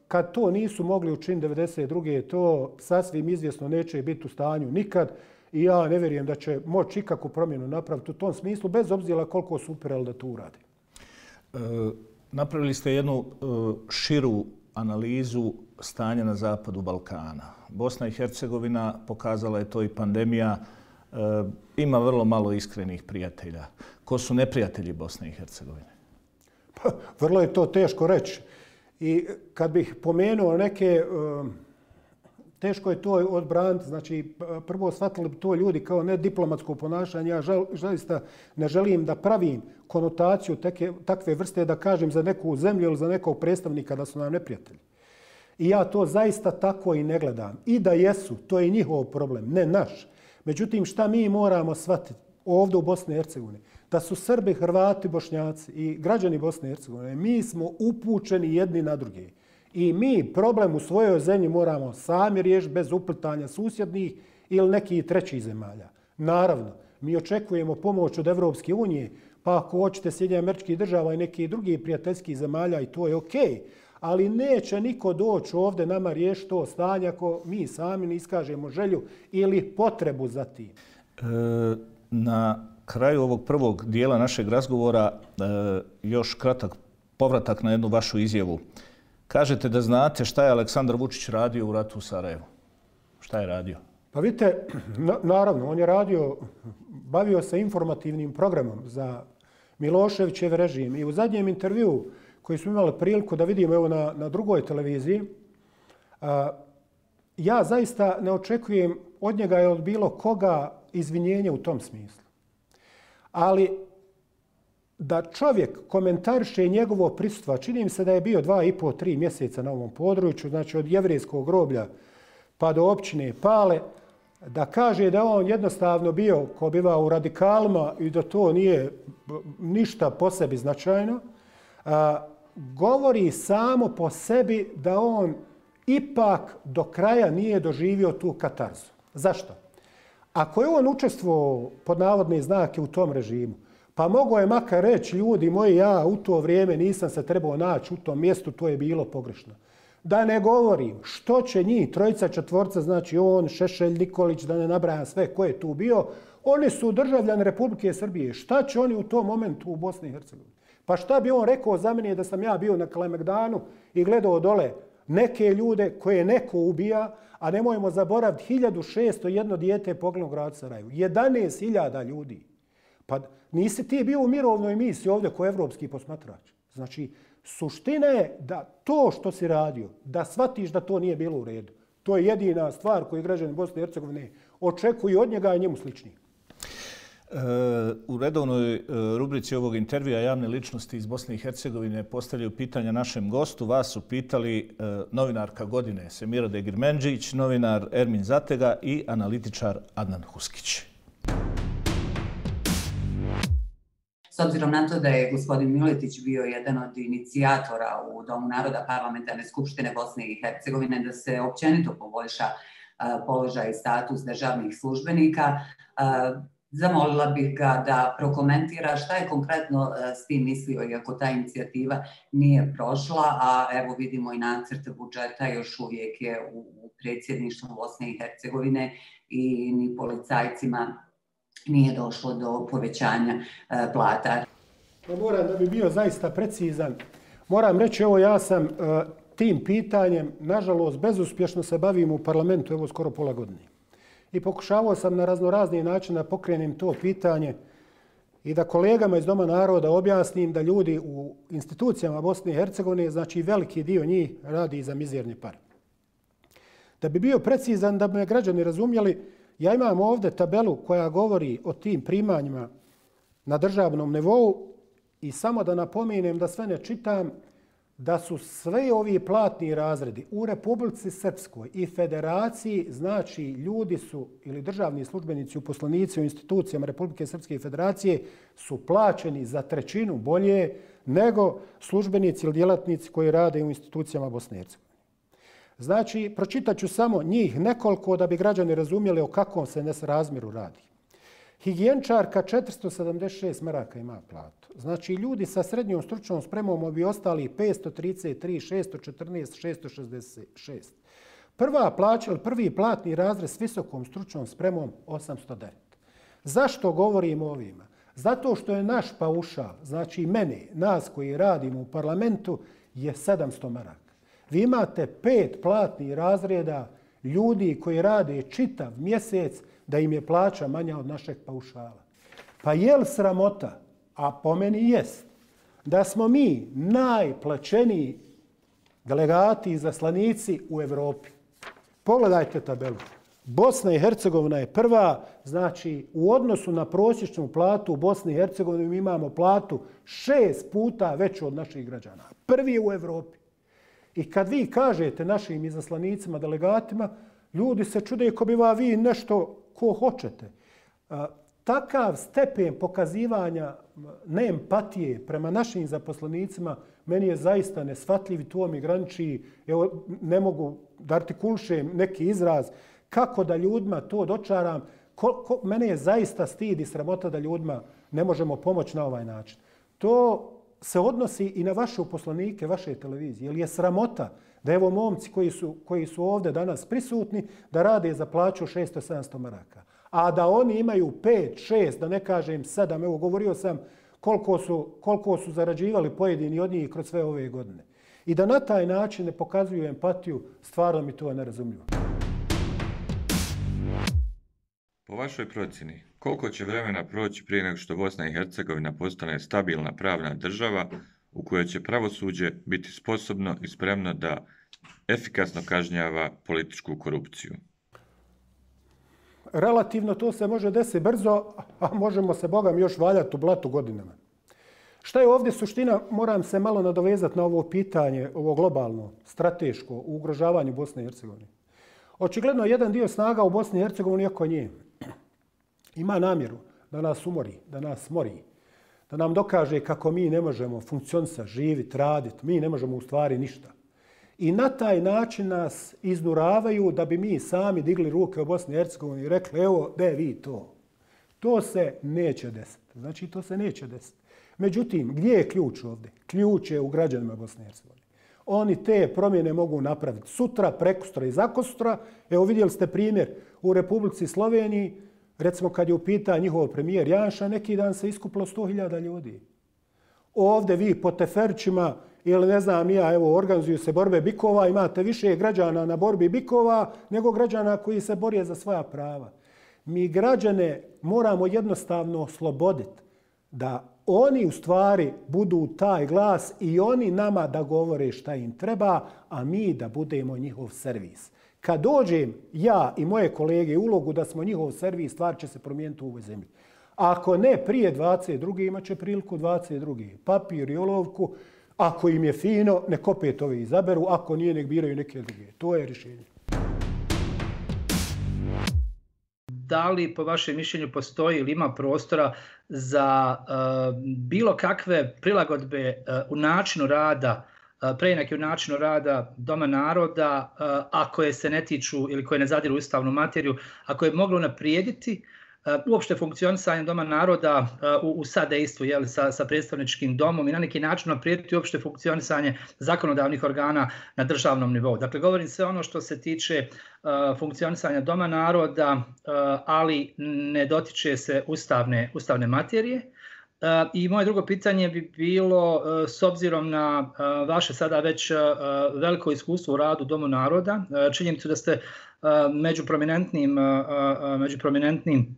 kad to nisu mogli učiniti devedeset druge to sasvim izvjesno neće biti u stanju nikad i ja ne vjerujem da će moći ikakvu promjenu napraviti u tom smislu, bez obzira koliko su upirali da to urade. E, napravili ste jednu e, širu analizu stanja na zapadu Balkana. Bosna i Hercegovina, pokazala je to i pandemija, e, ima vrlo malo iskrenih prijatelja. Ko su neprijatelji Bosne i Hercegovine? Pa, vrlo je to teško reći. I kad bih pomenuo neke, teško je to odbraniti. Znači, prvo shvatili bi to ljudi kao nediplomatsko ponašanje. Ja zaista ne želim da pravim konotaciju teke, takve vrste da kažem za neku zemlju ili za nekog predstavnika da su nam neprijatelji. I ja to zaista tako i ne gledam. I da jesu, to je njihov problem, ne naš. Međutim, šta mi moramo shvatiti ovdje u Bosni i Hercegovini? Da su Srbi, Hrvati, Bošnjaci i građani Bosne i Hercegovine, mi smo upućeni jedni na druge. I mi problem u svojoj zemlji moramo sami riješiti bez uplitanja susjednih ili nekih trećih zemalja. Naravno, mi očekujemo pomoć od Evropske unije, pa ako hoćete Sjedinjenih Američkih Država i nekih drugih prijateljskih zemalja i to je okej. Ali neće niko doći ovdje nama riješiti to stanje ako mi sami ne iskažemo želju ili potrebu za tim. E, na kraju ovog prvog dijela našeg razgovora e, još kratak povratak na jednu vašu izjavu. Kažete da znate šta je Aleksandar Vučić radio u ratu u Sarajevu. Šta je radio? Pa vidite, na, naravno, on je radio, bavio se informativnim programom za Miloševićev režim i u zadnjem intervjuu koji smo imali priliku da vidimo evo na, na drugoj televiziji, a, ja zaista ne očekujem od njega i od bilo koga izvinjenje u tom smislu. Ali da čovjek komentariše njegovo prisustvo, čini mi se da je bio dva i po, tri mjeseca na ovom području, znači od jevrijskog groblja pa do općine Pale, da kaže da on jednostavno bio ko biva u radikalima i da to nije ništa po sebi značajno, a, govori samo po sebi da on ipak do kraja nije doživio tu katarzu. Zašto? Ako je on učestvovao pod navodne znake u tom režimu, pa mogo je makar reći, ljudi moji, ja u to vrijeme nisam se trebao naći u tom mjestu, to je bilo pogrešno. Da ne govorim što će njih, trojica, četvorca, znači on, Šešelj, Nikolić, da ne nabrajam sve ko je tu bio, oni su državljani Republike Srbije. Šta će oni u tom momentu u Bosni i Hercegovini? Pa šta bi on rekao za mene da sam ja bio na Kalemegdanu i gledao dole neke ljude koje neko ubija, a nemojmo zaboraviti hiljadu šesto jedno dijete poginulo u gradu Sarajevu. jedanaest hiljada ljudi. Pa nisi ti bio u mirovnoj misiji ovdje kao evropski posmatrač. Znači, suština je da to što si radio, da shvatiš da to nije bilo u redu. To je jedina stvar koju građani Bosne i Hercegovine očekuju od njega i njemu slični. U redovnoj rubrici ovog intervjua javne ličnosti iz Bosne i Hercegovine postavljaju pitanja našem gostu. Vas su pitali novinarka godine Semira Degirmendžić, novinar Ermin Zatega i analitičar Adnan Huskić. S obzirom na to da je gospodin Miletić bio jedan od inicijatora u Domu naroda Parlamentarne skupštine Bosne i Hercegovine da se općenito poboljša položaj i status državnih službenika, zamolila bih ga da prokomentira šta je konkretno s tim mislio, iako ta inicijativa nije prošla, a evo vidimo i nacrt budžeta još uvijek je u predsjedništvu Bosne i Hercegovine i ni policajcima nije došlo do povećanja plata. Moram da bi bio zaista precizan. Moram reći, evo ja sam tim pitanjem, nažalost, bezuspješno se bavim u parlamentu, evo skoro pola godine. I pokušavao sam na raznorazni način da pokrenem to pitanje i da kolegama iz Doma naroda objasnim da ljudi u institucijama Bosne i Hercegovine, znači veliki dio njih, radi za mizerne pare. Da bi bio precizan, da bi me građani razumjeli, ja imam ovdje tabelu koja govori o tim primanjima na državnom nivou i samo da napomenem da sve ne čitam, da su sve ovi platni razredi u Republici Srpskoj i Federaciji, znači ljudi su ili državni službenici, uposlenici u institucijama Republike Srpske i Federacije su plaćeni za trećinu bolje nego službenici ili djelatnici koji rade u institucijama Bosne i Hercegovine. Znači, pročitat ću samo njih nekoliko da bi građani razumjeli o kakvom se nesrazmjeru radi. Higijenčarka četiristo sedamdeset šest maraka ima platu. Znači, ljudi sa srednjom stručnom spremom bi ostali petsto trideset tri, šesto četrnaest, šesto šezdeset šest. Prva plaća, prvi platni razred s visokom stručnom spremom osamsto devet. Zašto govorim o ovima? Zato što je naš paušal, znači mene, nas koji radimo u parlamentu, je sedamsto maraka. Vi imate pet platnih razreda ljudi koji rade čitav mjesec da im je plaća manja od našeg paušala. Pa je li sramota, a po meni jest, da smo mi najplaćeniji delegati i zaslanici u Evropi? Pogledajte tabelu. Bosna i Hercegovina je prva, znači u odnosu na prosječnu platu u Bosni i Hercegovini mi imamo platu šest puta veću od naših građana. Prvi je u Evropi. I kad vi kažete našim izaslanicima, delegatima, ljudi se čude ko bi vi nešto ko hoćete. Takav stepen pokazivanja neempatije prema našim zaposlenicima meni je zaista nesvatljiv i to mi graniči, evo, ne mogu da artikulišem neki izraz, kako da ljudima to dočaram. Ko, ko, mene je zaista stid i sramota da ljudima ne možemo pomoći na ovaj način. To se odnosi i na vaše uposlenike, vaše televizije. Jer je sramota da evo momci koji su, koji su ovdje danas prisutni da rade za plaću šesto sedamsto maraka. A da oni imaju pet, šest, da ne kažem sedam, evo govorio sam koliko su, koliko su zarađivali pojedini od njih kroz sve ove godine. I da na taj način ne pokazuju empatiju, stvarno mi to nerazumljivo. Po vašoj procjeni, koliko će vremena proći prije nego što Bosna i Hercegovina postane stabilna pravna država u kojoj će pravosuđe biti sposobno i spremno da efikasno kažnjava političku korupciju? Relativno to se može desiti brzo, a možemo se, Bogam, još valjati u blatu godinama. Šta je ovdje suština? Moram se malo nadovezati na ovo pitanje, ovo globalno, strateško, u ugrožavanju Bosne i Hercegovine. Očigledno, jedan dio snaga u Bosni i Hercegovini, iako nje, ima namjeru da nas umori, da nas smori, da nam dokaže kako mi ne možemo funkcionisati, živjeti, raditi, mi ne možemo u stvari ništa. I na taj način nas iznuravaju da bi mi sami digli ruke u Bosni i Hercegovini i rekli, evo, de vi to. To se neće desiti. Znači, to se neće desiti. Međutim, gdje je ključ ovdje? Ključ je u građanima Bosne i Hercegovine. Oni te promjene mogu napraviti sutra, prekustra i zakostra. Evo, vidjeli ste primjer u Republici Sloveniji, recimo kad je u pitanju njihov premijer Janša, neki dan se iskupilo sto hiljada ljudi. Ovdje vi po teferčima ili ne znam ja, evo, organizuju se borbe bikova, imate više građana na borbi bikova nego građana koji se borije za svoja prava. Mi građane moramo jednostavno osloboditi da oni u stvari budu taj glas i oni nama da govore šta im treba, a mi da budemo njihov servis. Kad dođem ja i moje kolege u ulogu da smo njihov servis, stvar će se promijeniti u ovoj zemlji. Ako ne prije dvadeset druge imat će priliku dvadeset druge Papir i olovku, ako im je fino, nek opet ove izaberu, ako nije, nek biraju neke druge. To je rješenje. Da li po vašem mišljenju postoji ili ima prostora za uh, bilo kakve prilagodbe uh, u načinu rada, uh, preinake u načinu rada Doma naroda, uh, a koje se ne tiču ili koje ne zadiru u ustavnu materiju, a koje je moglo naprijediti uh, uopšte funkcionisanje Doma naroda uh, u, u sadejstvu, jeli, sa, sa predstavničkim domom i na neki način naprijediti uopšte funkcionisanje zakonodavnih organa na državnom nivou. Dakle, govorim se ono što se tiče uh, funkcionisanja Doma naroda, uh, ali ne dotiče se ustavne, ustavne materije. Uh, I moje drugo pitanje bi bilo, uh, s obzirom na uh, vaše sada već uh, veliko iskustvo u radu Domu naroda, uh, činjenicu da ste uh, među prominentnim, uh, uh, među prominentnim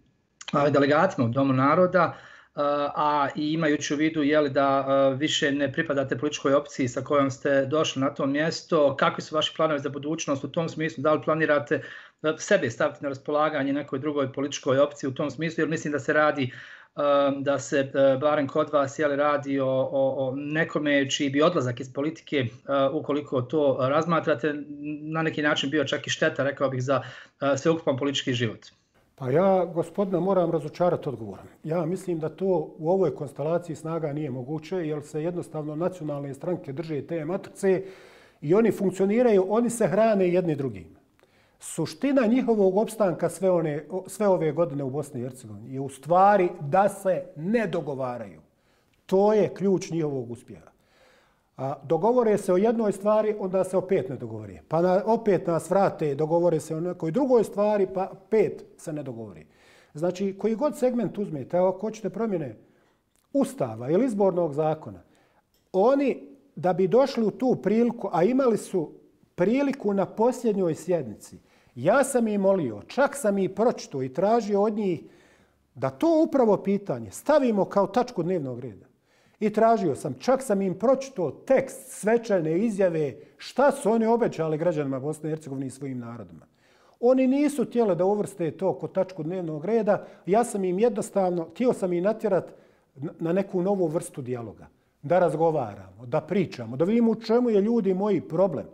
uh, delegatima u Domu naroda, Uh, a i imajući u vidu jeli, da uh, više ne pripadate političkoj opciji sa kojom ste došli na to mjesto, kakvi su vaši planovi za budućnost u tom smislu, da li planirate uh, sebe staviti na raspolaganje nekoj drugoj političkoj opciji u tom smislu, jer mislim da se radi da se barem kod vas jeli, radi o, o, o nekome čiji bi odlazak iz politike, ukoliko to razmatrate, na neki način bio čak i šteta, rekao bih, za sveukupan politički život? Pa ja, gospodina, moram razočarati odgovorom. Ja mislim da to u ovoj konstelaciji snaga nije moguće, jer se jednostavno nacionalne stranke drže te matrice i oni funkcioniraju, oni se hrane jedni drugim. Suština njihovog opstanka sve, one, sve ove godine u Bosni i Hercegovini je u stvari da se ne dogovaraju. To je ključ njihovog uspjeha. A dogovore se o jednoj stvari, onda se opet ne dogovore. Pa na, opet nas vrate, dogovore se o nekoj drugoj stvari, pa pet se ne dogovori. Znači, koji god segment uzmete, ako hoćete promjene Ustava ili izbornog zakona, oni da bi došli u tu priliku, a imali su priliku na posljednjoj sjednici, ja sam ih molio, čak sam ih pročitao i tražio od njih da to upravo pitanje stavimo kao tačku dnevnog reda. I tražio sam, čak sam im pročitao tekst svečane izjave šta su oni obećali građanima Bosne i Hercegovine i svojim narodima. Oni nisu htjeli da uvrste to kod tačku dnevnog reda. Ja sam im jednostavno, htio sam ih natjerati na neku novu vrstu dijaloga. Da razgovaramo, da pričamo, da vidimo u čemu je ljudi moji problem.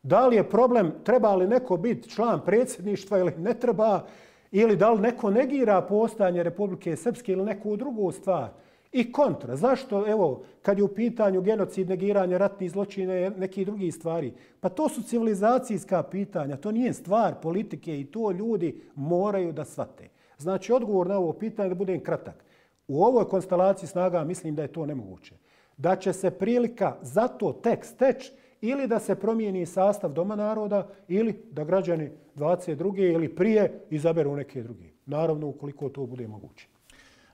Da li je problem treba li neko biti član predsjedništva ili ne treba, ili da li neko negira postojanje Republike Srpske ili neku drugu stvar. I kontra. Zašto, evo, kad je u pitanju genocid, negiranje, ratnih zločina i neki drugi stvari? Pa to su civilizacijska pitanja, to nije stvar politike i to ljudi moraju da shvate. Znači, odgovor na ovo pitanje, da budem kratak. U ovoj konstelaciji snaga mislim da je to nemoguće. Da će se prilika za to tek steći ili da se promijeni sastav Doma naroda ili da građani dvadeset druge ili prije izaberu neke druge. Naravno, ukoliko to bude moguće.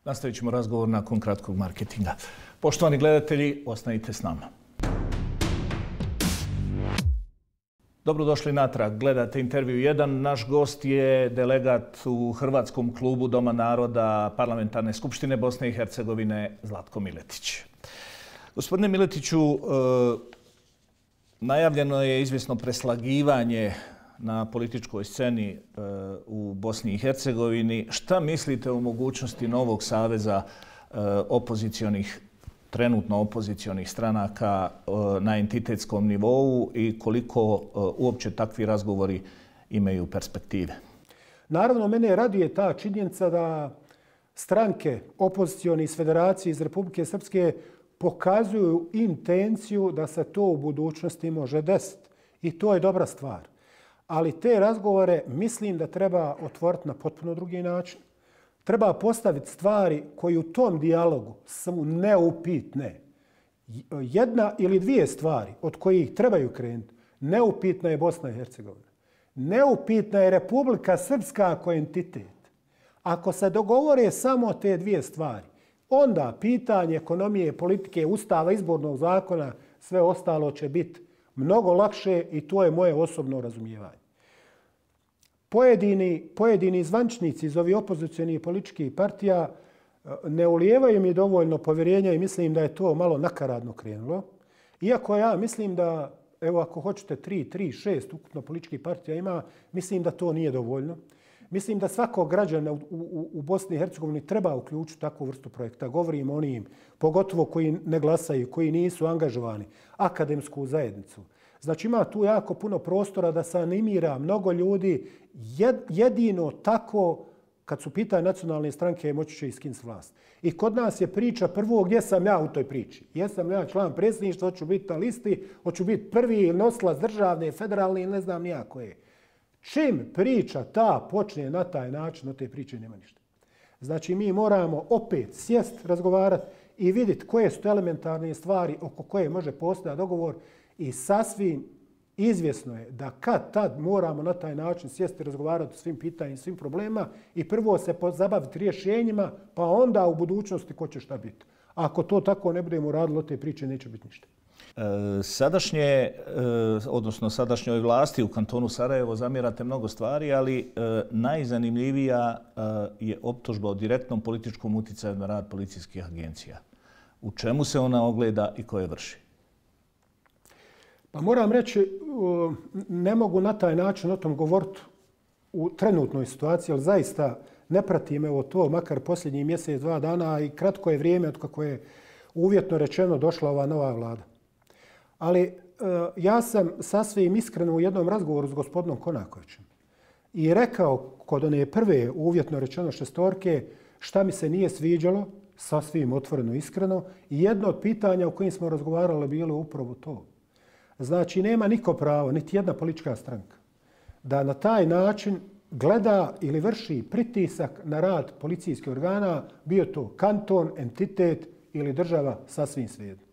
Nastavit ćemo razgovor nakon kratkog marketinga. Poštovani gledatelji, ostanite s nama. Dobrodošli natrag. Gledate Intervju jedan. Naš gost je delegat u Hrvatskom klubu Doma naroda Parlamentarne skupštine Bosne i Hercegovine Zlatko Miletić. Gospodine Miletiću, najavljeno je izvjesno preslagivanje na političkoj sceni u Bosni i Hercegovini. Šta mislite o mogućnosti novog saveza opozicionih, trenutno opozicionih stranaka na entitetskom nivou i koliko uopće takvi razgovori imaju perspektive? Naravno, mene raduje ta činjenica da stranke opozicioni iz Federacije iz Republike Srpske pokazuju intenciju da se to u budućnosti može desiti. I to je dobra stvar. Ali te razgovore mislim da treba otvoriti na potpuno drugi način. Treba postaviti stvari koji u tom dijalogu su neupitne. Jedna ili dvije stvari od kojih trebaju krenuti. Neupitna je Bosna i Hercegovina. Neupitna je Republika Srpska kao entitet. Ako se dogovore samo te dvije stvari, onda pitanje ekonomije, politike, ustava, izbornog zakona, sve ostalo će biti mnogo lakše i to je moje osobno razumijevanje. Pojedini, pojedini zvančnici iz ovih opozicionih političkih partija ne ulijevaju mi dovoljno povjerenja i mislim da je to malo nakaradno krenulo. Iako ja mislim da, evo ako hoćete tri, tri, šest ukupno političkih partija ima, mislim da to nije dovoljno. Mislim da svakog građana u, u, u Bosni i Hercegovini treba uključiti takvu vrstu projekta. Govorim o onim, pogotovo koji ne glasaju, koji nisu angažovani, akademsku zajednicu. Znači ima tu jako puno prostora da se animira mnogo ljudi. Jedino tako, kad su pitanje nacionalne stranke, moći će iskiniti vlast. I kod nas je priča prvo gdje sam ja u toj priči. Jesam ja član predsjedništva, hoću biti na listi, hoću biti prvi nosilac državne, federalne ili ne znam nijako je. Čim priča ta počne na taj način, od te priče nema ništa. Znači mi moramo opet sjest, razgovarati i vidjeti koje su elementarne stvari oko koje može postojati dogovor i sasvim izvjesno je da kad tad moramo na taj način sjesti, razgovarati o svim pitanjima, svim problemima i prvo se pozabaviti rješenjima, pa onda u budućnosti ko će šta biti. Ako to tako ne budemo radili, od te priče neće biti ništa. Sadašnje, odnosno sadašnjoj vlasti u kantonu Sarajevo zamjerate mnogo stvari, ali najzanimljivija je optužba o direktnom političkom utjecaju na rad policijskih agencija. U čemu se ona ogleda i ko je vrši? Pa moram reći, ne mogu na taj način o tom govoriti u trenutnoj situaciji, ali zaista ne pratim evo to, makar posljednji mjesec, dva dana i kratko je vrijeme od kako je uvjetno rečeno došla ova nova vlada. Ali ja sam sasvim iskreno u jednom razgovoru s gospodinom Konakovićem i rekao kod one prve uvjetno rečeno šestorke šta mi se nije sviđalo, sasvim otvoreno iskreno, i jedno od pitanja o kojim smo razgovarali bilo upravo to. Znači, nema niko pravo, niti jedna politička stranka, da na taj način gleda ili vrši pritisak na rad policijskih organa, bio to kanton, entitet ili država, sasvim svejedno.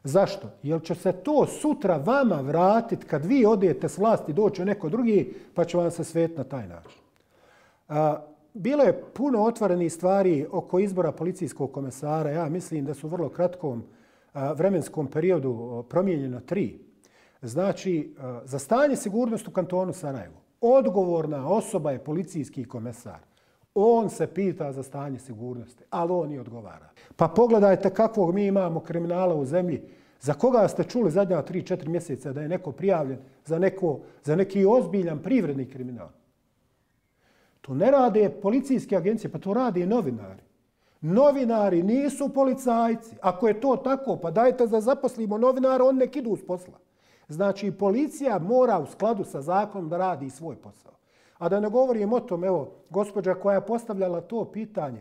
Zašto? Jer će se to sutra vama vratiti kad vi odete s vlasti, doći neko drugi, pa će vam se svet na taj način. A, bilo je puno otvorenih stvari oko izbora policijskog komesara. Ja mislim da su u vrlo kratkom a, vremenskom periodu promijenjeno tri. Znači, a, za stanje sigurnosti u kantonu Sarajevo odgovorna osoba je policijski komesar. On se pita za stanje sigurnosti, ali on i odgovara. Pa pogledajte kakvog mi imamo kriminala u zemlji. Za koga ste čuli zadnja tri četiri mjeseca da je neko prijavljen za, neko, za neki ozbiljan privredni kriminal? To ne rade policijske agencije, pa to rade i novinari. Novinari nisu policajci. Ako je to tako, pa dajte da zaposlimo novinara, on nek idu s posla. Znači, policija mora u skladu sa zakonom da radi svoj posao. A da ne govorim o tom, evo, gospođa koja je postavljala to pitanje,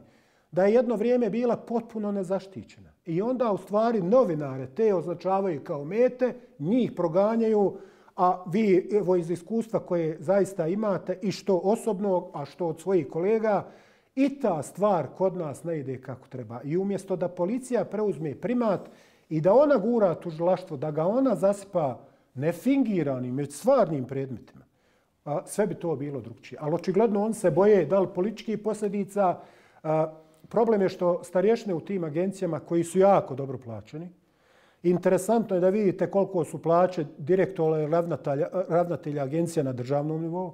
da je jedno vrijeme bila potpuno nezaštićena. I onda u stvari novinare te označavaju kao mete, njih proganjaju, a vi evo iz iskustva koje zaista imate i što osobno, a što od svojih kolega, i ta stvar kod nas ne ide kako treba. I umjesto da policija preuzme primat i da ona gura tužilaštvo, da ga ona zasipa nefingiranim, već stvarnim predmetima, a sve bi to bilo drugčije. Ali očigledno on se boje da li političkih posljedica. A, problem je što starješine u tim agencijama koji su jako dobro plaćeni. Interesantno je da vidite koliko su plaće direktora i ravnatelja, ravnatelja agencija na državnom nivou.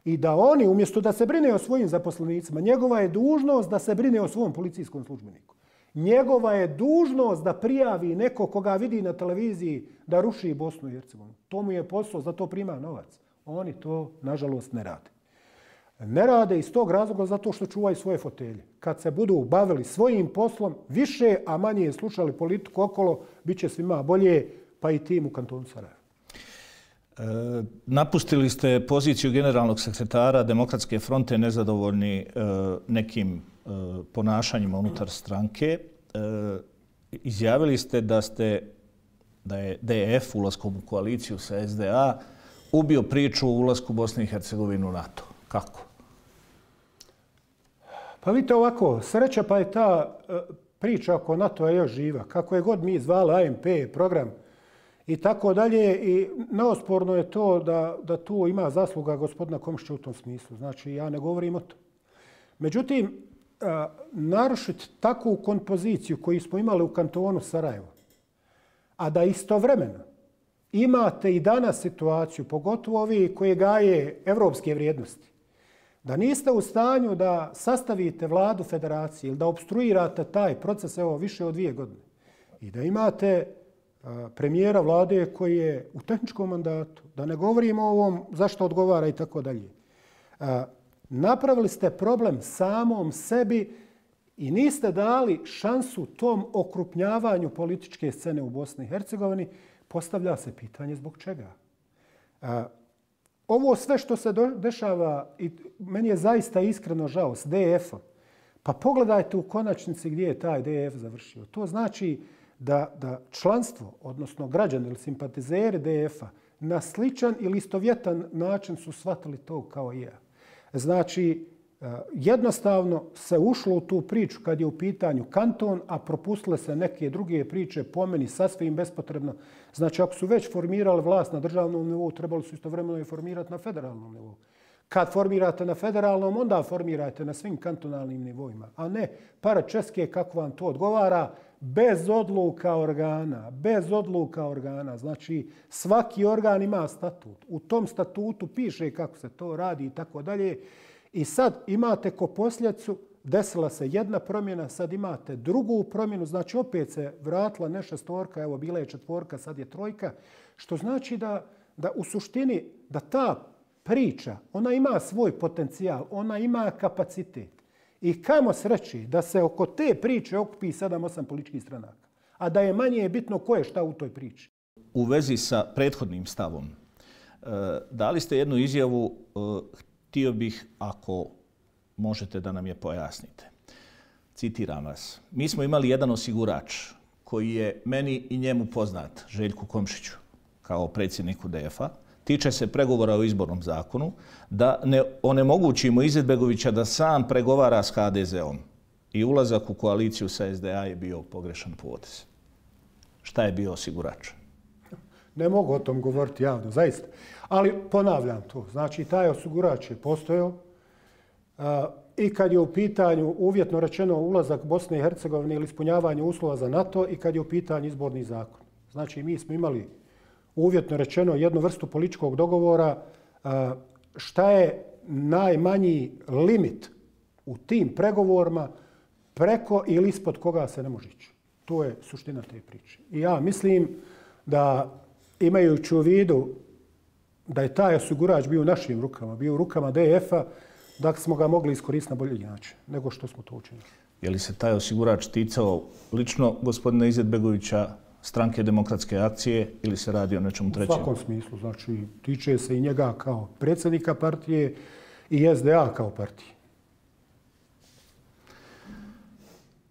I da oni, umjesto da se brine o svojim zaposlenicima, njegova je dužnost da se brine o svom policijskom službeniku. Njegova je dužnost da prijavi neko koga vidi na televiziji da ruši Bosnu i Hercegovinu. To mu je posao, za to prima novac. Oni to, nažalost, ne rade. Ne rade iz tog razloga zato što čuvaju svoje fotelje. Kad se budu bavili svojim poslom, više, a manje slušali politiku okolo, bit će svima bolje, pa i tim u kantonu Sarajevo. E, napustili ste poziciju generalnog sekretara Demokratske fronte nezadovoljni e, nekim e, ponašanjima unutar stranke. E, izjavili ste da ste da je D F ulaskom u koaliciju sa S D A ubio priču o ulasku Bosne i Hercegovine u NATO. Kako? Pa vidite ovako, sreća pa je ta priča oko NATO-a još živa. Kako je god mi zvali A M P, program i tako dalje. I neosporno je to da, da tu ima zasluga gospodina Komšića u tom smislu. Znači, ja ne govorim o tom. Međutim, narušiti takvu kompoziciju koju smo imali u kantonu Sarajevo, a da istovremeno imate i danas situaciju, pogotovo ovi koji gaje evropske vrijednosti, da niste u stanju da sastavite vladu federacije ili da obstruirate taj proces evo više od dvije godine i da imate a, premijera vlade koji je u tehničkom mandatu, da ne govorimo o ovom zašto odgovara i tako dalje. Napravili ste problem samom sebi i niste dali šansu tom okrupnjavanju političke scene u Bosni i Hercegovini. Postavlja se pitanje zbog čega. A, ovo sve što se do, dešava, i meni je zaista iskreno žao, s D F-om, pa pogledajte u konačnici gdje je taj D F završio. To znači da, da članstvo, odnosno građani ili simpatizeri D F-a, na sličan ili istovjetan način su shvatili to kao i ja. Znači, jednostavno se ušlo u tu priču kad je u pitanju kanton, a propustile se neke druge priče po meni sasvim bespotrebno. Znači, ako su već formirali vlast na državnom nivou, trebali su istovremeno i formirati na federalnom nivou. Kad formirate na federalnom, onda formirajte na svim kantonalnim nivoima, a ne paračeske kako vam to odgovara, bez odluka organa, bez odluka organa. Znači, svaki organ ima statut. U tom statutu piše kako se to radi i tako dalje. I sad imate ko posljedicu, desila se jedna promjena, sad imate drugu promjenu, znači opet se vratila ne šestorka, evo bila je četvorka, sad je trojka, što znači da, da u suštini da ta priča, ona ima svoj potencijal, ona ima kapacitet. I kamo sreći da se oko te priče okupi sedam osam političkih stranaka, a da je manje bitno ko je šta u toj priči. U vezi sa prethodnim stavom, dali ste jednu izjavu, htio bih, ako možete da nam je pojasnite. Citiram vas. Mi smo imali jedan osigurač koji je meni i njemu poznat, Željku Komšiću, kao predsjedniku D F A, tiče se pregovora o izbornom zakonu, da ne onemogućimo Izetbegovića da sam pregovara s H D Z-om. I ulazak u koaliciju sa S D A je bio pogrešan potez. Šta je bio osigurač? Ne mogu o tom govoriti javno, zaista. Ali ponavljam to. Znači, taj osigurač je postojao i kad je u pitanju, uvjetno rečeno, ulazak Bosne i Hercegovine ili ispunjavanje uslova za NATO i kad je u pitanju izborni zakon. Znači, mi smo imali, uvjetno rečeno, jednu vrstu političkog dogovora šta je najmanji limit u tim pregovorima preko ili ispod koga se ne može ići. To je suština te priče. I ja mislim da, imajući u vidu da je taj osigurač bio u našim rukama, bio u rukama D F A, da smo ga mogli iskoristiti na bolji način nego što smo to učinili. Je li se taj osigurač ticao lično gospodina Izetbegovića, Stranke demokratske akcije, ili se radi o nečemu trećem? U svakom smislu. Znači, tiče se i njega kao predsjednika partije i S D A kao partije.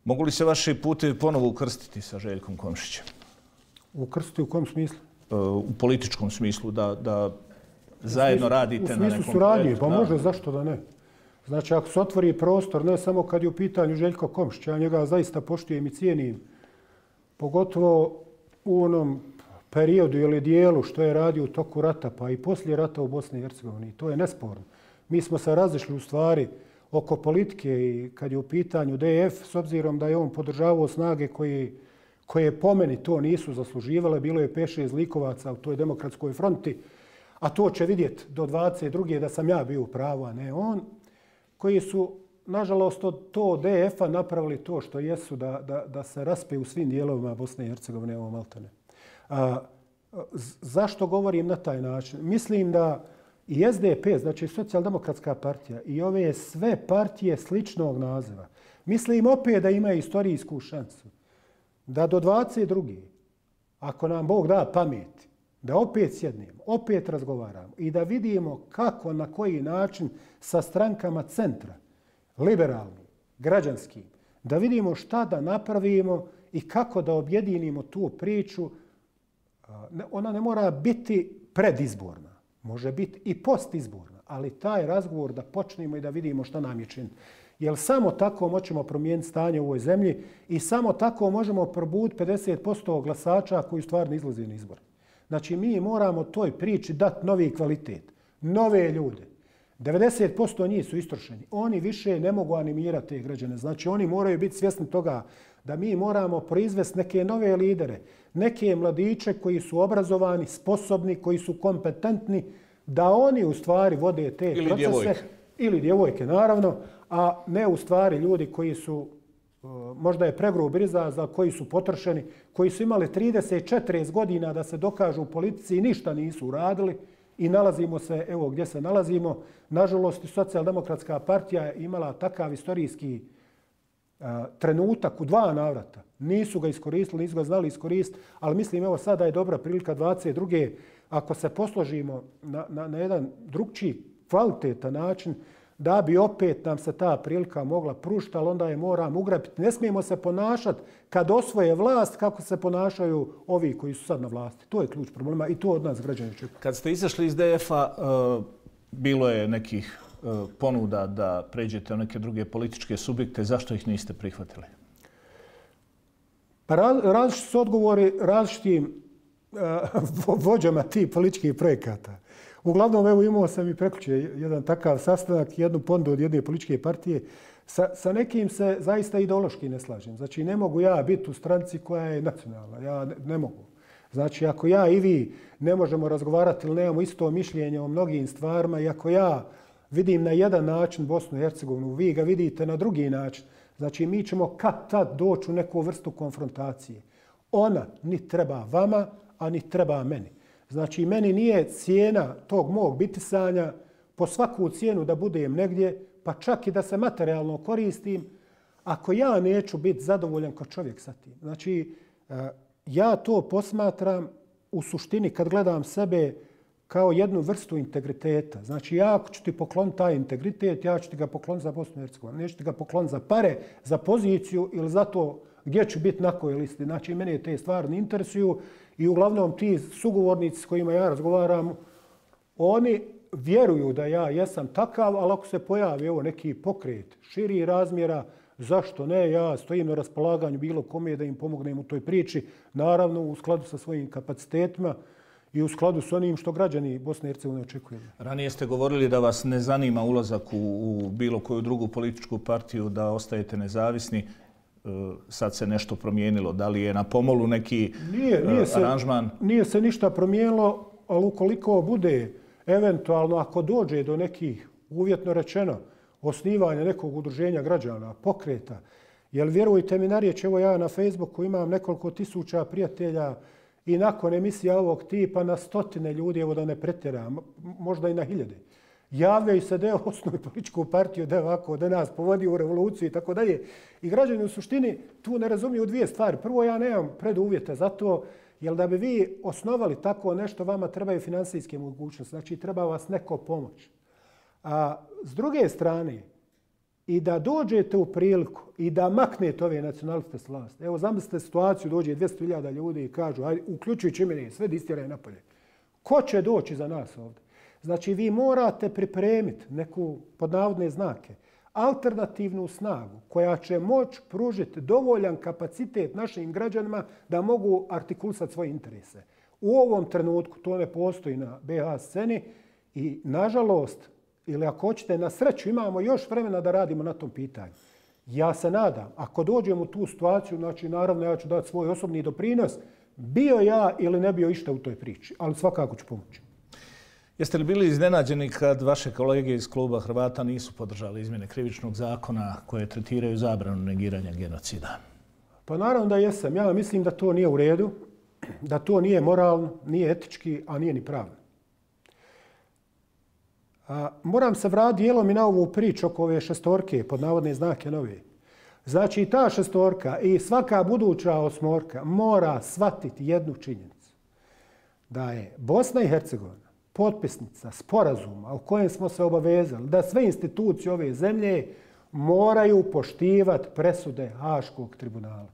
Mogu li se vaši putevi ponovo ukrstiti sa Željkom Komšićem? Ukrstiti u kom smislu? U političkom smislu, da, da zajedno radite na nekom projektu. U smislu suradnje, pa može, zašto da ne? Znači, ako se otvori prostor, ne samo kad je u pitanju Željko Komšić, ja njega zaista poštujem i cijenim, pogotovo u onom periodu ili dijelu što je radio u toku rata, pa i poslije rata u Bosni i Hercegovini. To je nesporno. Mi smo se razišli u stvari oko politike i kad je u pitanju D F, s obzirom da je on podržavao snage koji, koje po meni to nisu zasluživale, bilo je pet šest likovaca u toj demokratskoj fronti, a to će vidjeti do dvadeset druge da sam ja bio u pravu, a ne on, koji su, nažalost, od to D F A napravili to što jesu da, da, da se raspe u svim dijelovima Bosne i Hercegovine, ovo maltene. A, zašto govorim na taj način? Mislim da i S D P, znači Socijaldemokratska partija, i ove sve partije sličnog naziva, mislim opet da imaju istorijsku šansu da do dvadeset druge, ako nam Bog da pamet, da opet sjednemo, opet razgovaramo i da vidimo kako, na koji način sa strankama centra, liberalnim, građanskim, da vidimo šta da napravimo i kako da objedinimo tu priču. Ona ne mora biti predizborna, može biti i postizborna, ali taj razgovor da počnemo i da vidimo šta nam je činiti. Jer samo tako možemo promijeniti stanje u ovoj zemlji i samo tako možemo probuditi pedeset posto glasača koji stvarno izlaze na izbor. Znači, mi moramo toj priči dati novi kvalitet, nove ljude. devedeset posto njih su istrošeni. Oni više ne mogu animirati te građane. Znači, oni moraju biti svjesni toga da mi moramo proizvesti neke nove lidere, neke mladiće koji su obrazovani, sposobni, koji su kompetentni, da oni u stvari vode te ili procese. Djevojke. Ili djevojke, naravno, a ne u stvari ljudi koji su, možda je pregrub izraz, koji su potrošeni, koji su imali trideset četrdeset godina da se dokažu u politici i ništa nisu uradili i nalazimo se, evo gdje se nalazimo. Nažalost, Socijaldemokratska partija je imala takav istorijski a, trenutak u dva navrata. Nisu ga iskoristili, nisu ga znali iskoristiti, ali mislim evo sada je dobra prilika dvadeset druge ako se posložimo na, na, na jedan drugčiji, kvalitetan način, da bi opet nam se ta prilika mogla pružiti, ali onda je moramo ugrabiti. Ne smijemo se ponašati kad osvoje vlast kako se ponašaju ovi koji su sad na vlasti. To je ključ problema i to od nas građani čekaju. Kad ste izašli iz D F A, uh, bilo je nekih uh, ponuda da pređete u neke druge političke subjekte. Zašto ih niste prihvatili? Pa raz, različiti su odgovori različitim uh, vođama tih političkih projekata. Uglavnom, evo imao sam i prekjuče jedan takav sastanak, jednu ponudu od jedne političke partije. Sa, sa nekim se zaista ideološki ne slažem. Znači, ne mogu ja biti u stranci koja je nacionalna. Ja ne, ne mogu. Znači, ako ja i vi ne možemo razgovarati ili nemamo isto mišljenje o mnogim stvarima i ako ja vidim na jedan način Bosnu i Hercegovinu, vi ga vidite na drugi način, znači mi ćemo kad tad doći u neku vrstu konfrontacije. Ona ni treba vama, a ni treba meni. Znači, meni nije cijena tog mog bitisanja po svaku cijenu da budem negdje, pa čak i da se materijalno koristim, ako ja neću biti zadovoljan kao čovjek sa tim. Znači, ja to posmatram u suštini kad gledam sebe kao jednu vrstu integriteta. Znači, ja ako ću ti pokloniti taj integritet, ja ću ti ga pokloniti za Bosnu i Hercegovinu. Neću ti ga pokloniti za pare, za poziciju ili za to gdje ću biti na kojoj listi. Znači, mene te stvari ne interesuju i uglavnom ti sugovornici s kojima ja razgovaram, oni vjeruju da ja jesam takav, ali ako se pojavi evo, neki pokret širi razmjera, zašto ne, ja stojim na raspolaganju bilo kome da im pomognem u toj priči, naravno u skladu sa svojim kapacitetima i u skladu s onim što građani Bosne i Hercegovine očekuju. Ranije ste govorili da vas ne zanima ulazak u, u bilo koju drugu političku partiju, da ostajete nezavisni. Sad se nešto promijenilo. Da li je na pomolu neki nije, nije se, aranžman? Nije se ništa promijenilo, ali ukoliko bude eventualno, ako dođe do nekih, uvjetno rečeno, osnivanja nekog udruženja građana, pokreta, jer vjerujte mi na riječ, evo ja na Facebooku imam nekoliko tisuća prijatelja i nakon emisija ovog tipa na stotine ljudi, evo da ne pretjeram, možda i na hiljade. Javljaju se da je osnovi političku partiju, da je ovako, da nas povodi u revoluciju i tako dalje. I građani u suštini tu ne razumiju dvije stvari. Prvo, ja nemam preduvjete za to, jer da bi vi osnovali tako nešto, vama trebaju finansijske mogućnosti. Znači, treba vas neko pomoć. A s druge strane, i da dođete u priliku i da maknete ove nacionaliste s vlasti. Evo, zamislite situaciju, dođe dvjesto hiljada ljudi i kažu, ajde, uključujući mene, sve da istjeraju napolje. Ko će doći za nas ovdje? Znači, vi morate pripremiti neku, pod navodne znake, alternativnu snagu koja će moći pružiti dovoljan kapacitet našim građanima da mogu artikulisati svoje interese. U ovom trenutku to ne postoji na be ha sceni i, nažalost, ili ako hoćete, na sreću imamo još vremena da radimo na tom pitanju. Ja se nadam, ako dođemo u tu situaciju, znači, naravno, ja ću dati svoj osobni doprinos, bio ja ili ne bio išta u toj priči, ali svakako ću pomoći. Jeste li bili iznenađeni kad vaše kolege iz kluba Hrvata nisu podržali izmjene krivičnog zakona koje tretiraju zabranu negiranja genocida? Pa naravno da jesam. Ja mislim da to nije u redu, da to nije moralno, nije etički, a nije ni pravno. A, moram se vratiti dijelom i na ovu priču oko ove šestorke, pod navodne znake nove. Znači, ta šestorka i svaka buduća osmorka mora shvatiti jednu činjenicu. Da je Bosna i Hercegovina potpisnica sporazuma u kojem smo se obavezali da sve institucije ove zemlje moraju poštivati presude Haškog tribunala.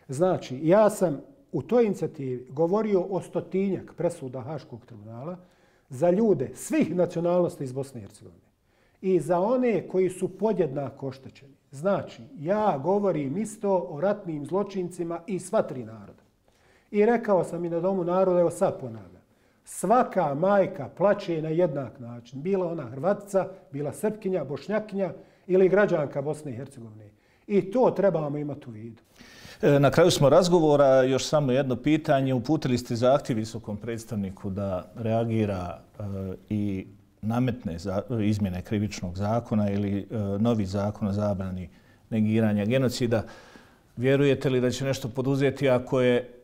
Znači, ja sam u toj inicijativi govorio o stotinjak presuda Haškog tribunala za ljude svih nacionalnosti iz Bosne i Hercegovine i za one koji su podjednako oštećeni. Znači, ja govorim isto o ratnim zločincima i sva tri naroda. I rekao sam i na Domu naroda, evo sad ponavljam. Svaka majka plaće na jednak način. Bila ona Hrvatica, bila Srpkinja, Bošnjakinja ili građanka Bosne i Hercegovine. I to trebamo imati u vidu. Na kraju smo razgovora, još samo jedno pitanje. Uputili ste zahtjev visokom predstavniku da reagira e, i nametne za, izmjene krivičnog zakona ili e, novi zakon o zabrani negiranja genocida. Vjerujete li da će nešto poduzeti ako je,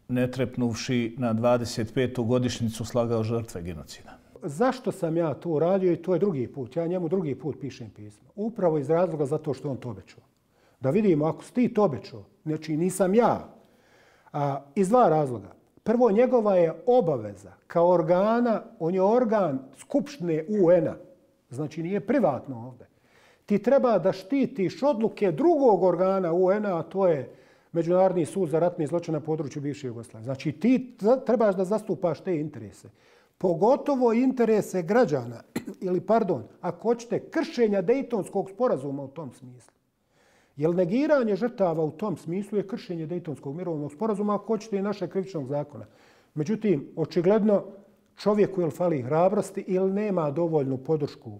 ne trepnuvši na dvadeset petu godišnjicu, slagao žrtve genocida? Zašto sam ja to uradio i to je drugi put? Ja njemu drugi put pišem pismo. Upravo iz razloga zato što on to obećao. Da vidimo, ako si ti to obećao, znači nisam ja. A, iz dva razloga. Prvo, njegova je obaveza kao organa, on je organ Skupštine u en-a. Znači nije privatno ovdje. Ti treba da štitiš odluke drugog organa u en-a, a to je Međunarodni sud za ratne zločine na području bivše Jugoslavije. Znači ti trebaš da zastupaš te interese. Pogotovo interese građana, ili pardon, ako hoćete, kršenja Dejtonskog sporazuma u tom smislu. Jer negiranje žrtava u tom smislu je kršenje Dejtonskog mirovnog sporazuma, ako hoćete, i našeg krivičnog zakona. Međutim, očigledno čovjeku ili fali hrabrosti ili nema dovoljnu podršku u,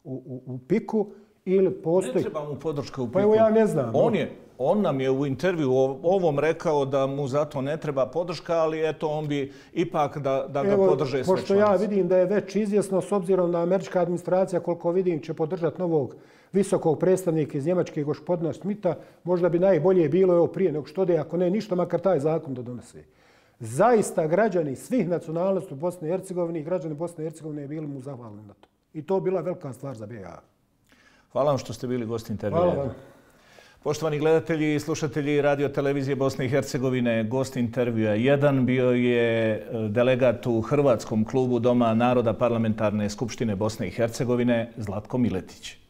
u, u piku, ili postoji... Ne treba mu podrška u piku. Pa evo ja ne znam. On, je, on nam je u intervju ovom rekao da mu zato ne treba podrška, ali eto on bi ipak da, da ga evo, podrže sve pošto ja vidim da je već izvjesno, s obzirom na američka administracija, koliko vidim, će podržati novog visokog predstavnika iz Njemačke, gospodina Schmidta, možda bi najbolje bilo evo prije nego što de, ako ne ništa, makar taj zakon da donese. Zaista građani svih nacionalnosti u Bosni i Hercegovini i građani Bosne i Hercegovine bili mu zahvalni na to. I to bila velika stvar za B i H. Hvala vam što ste bili gost intervjua. Hvala vam. Poštovani gledatelji i slušatelji Radio televizije Bosne i Hercegovine, gost intervjua jedan bio je delegat u Hrvatskom klubu Doma naroda Parlamentarne skupštine Bosne i Hercegovine Zlatko Miletić.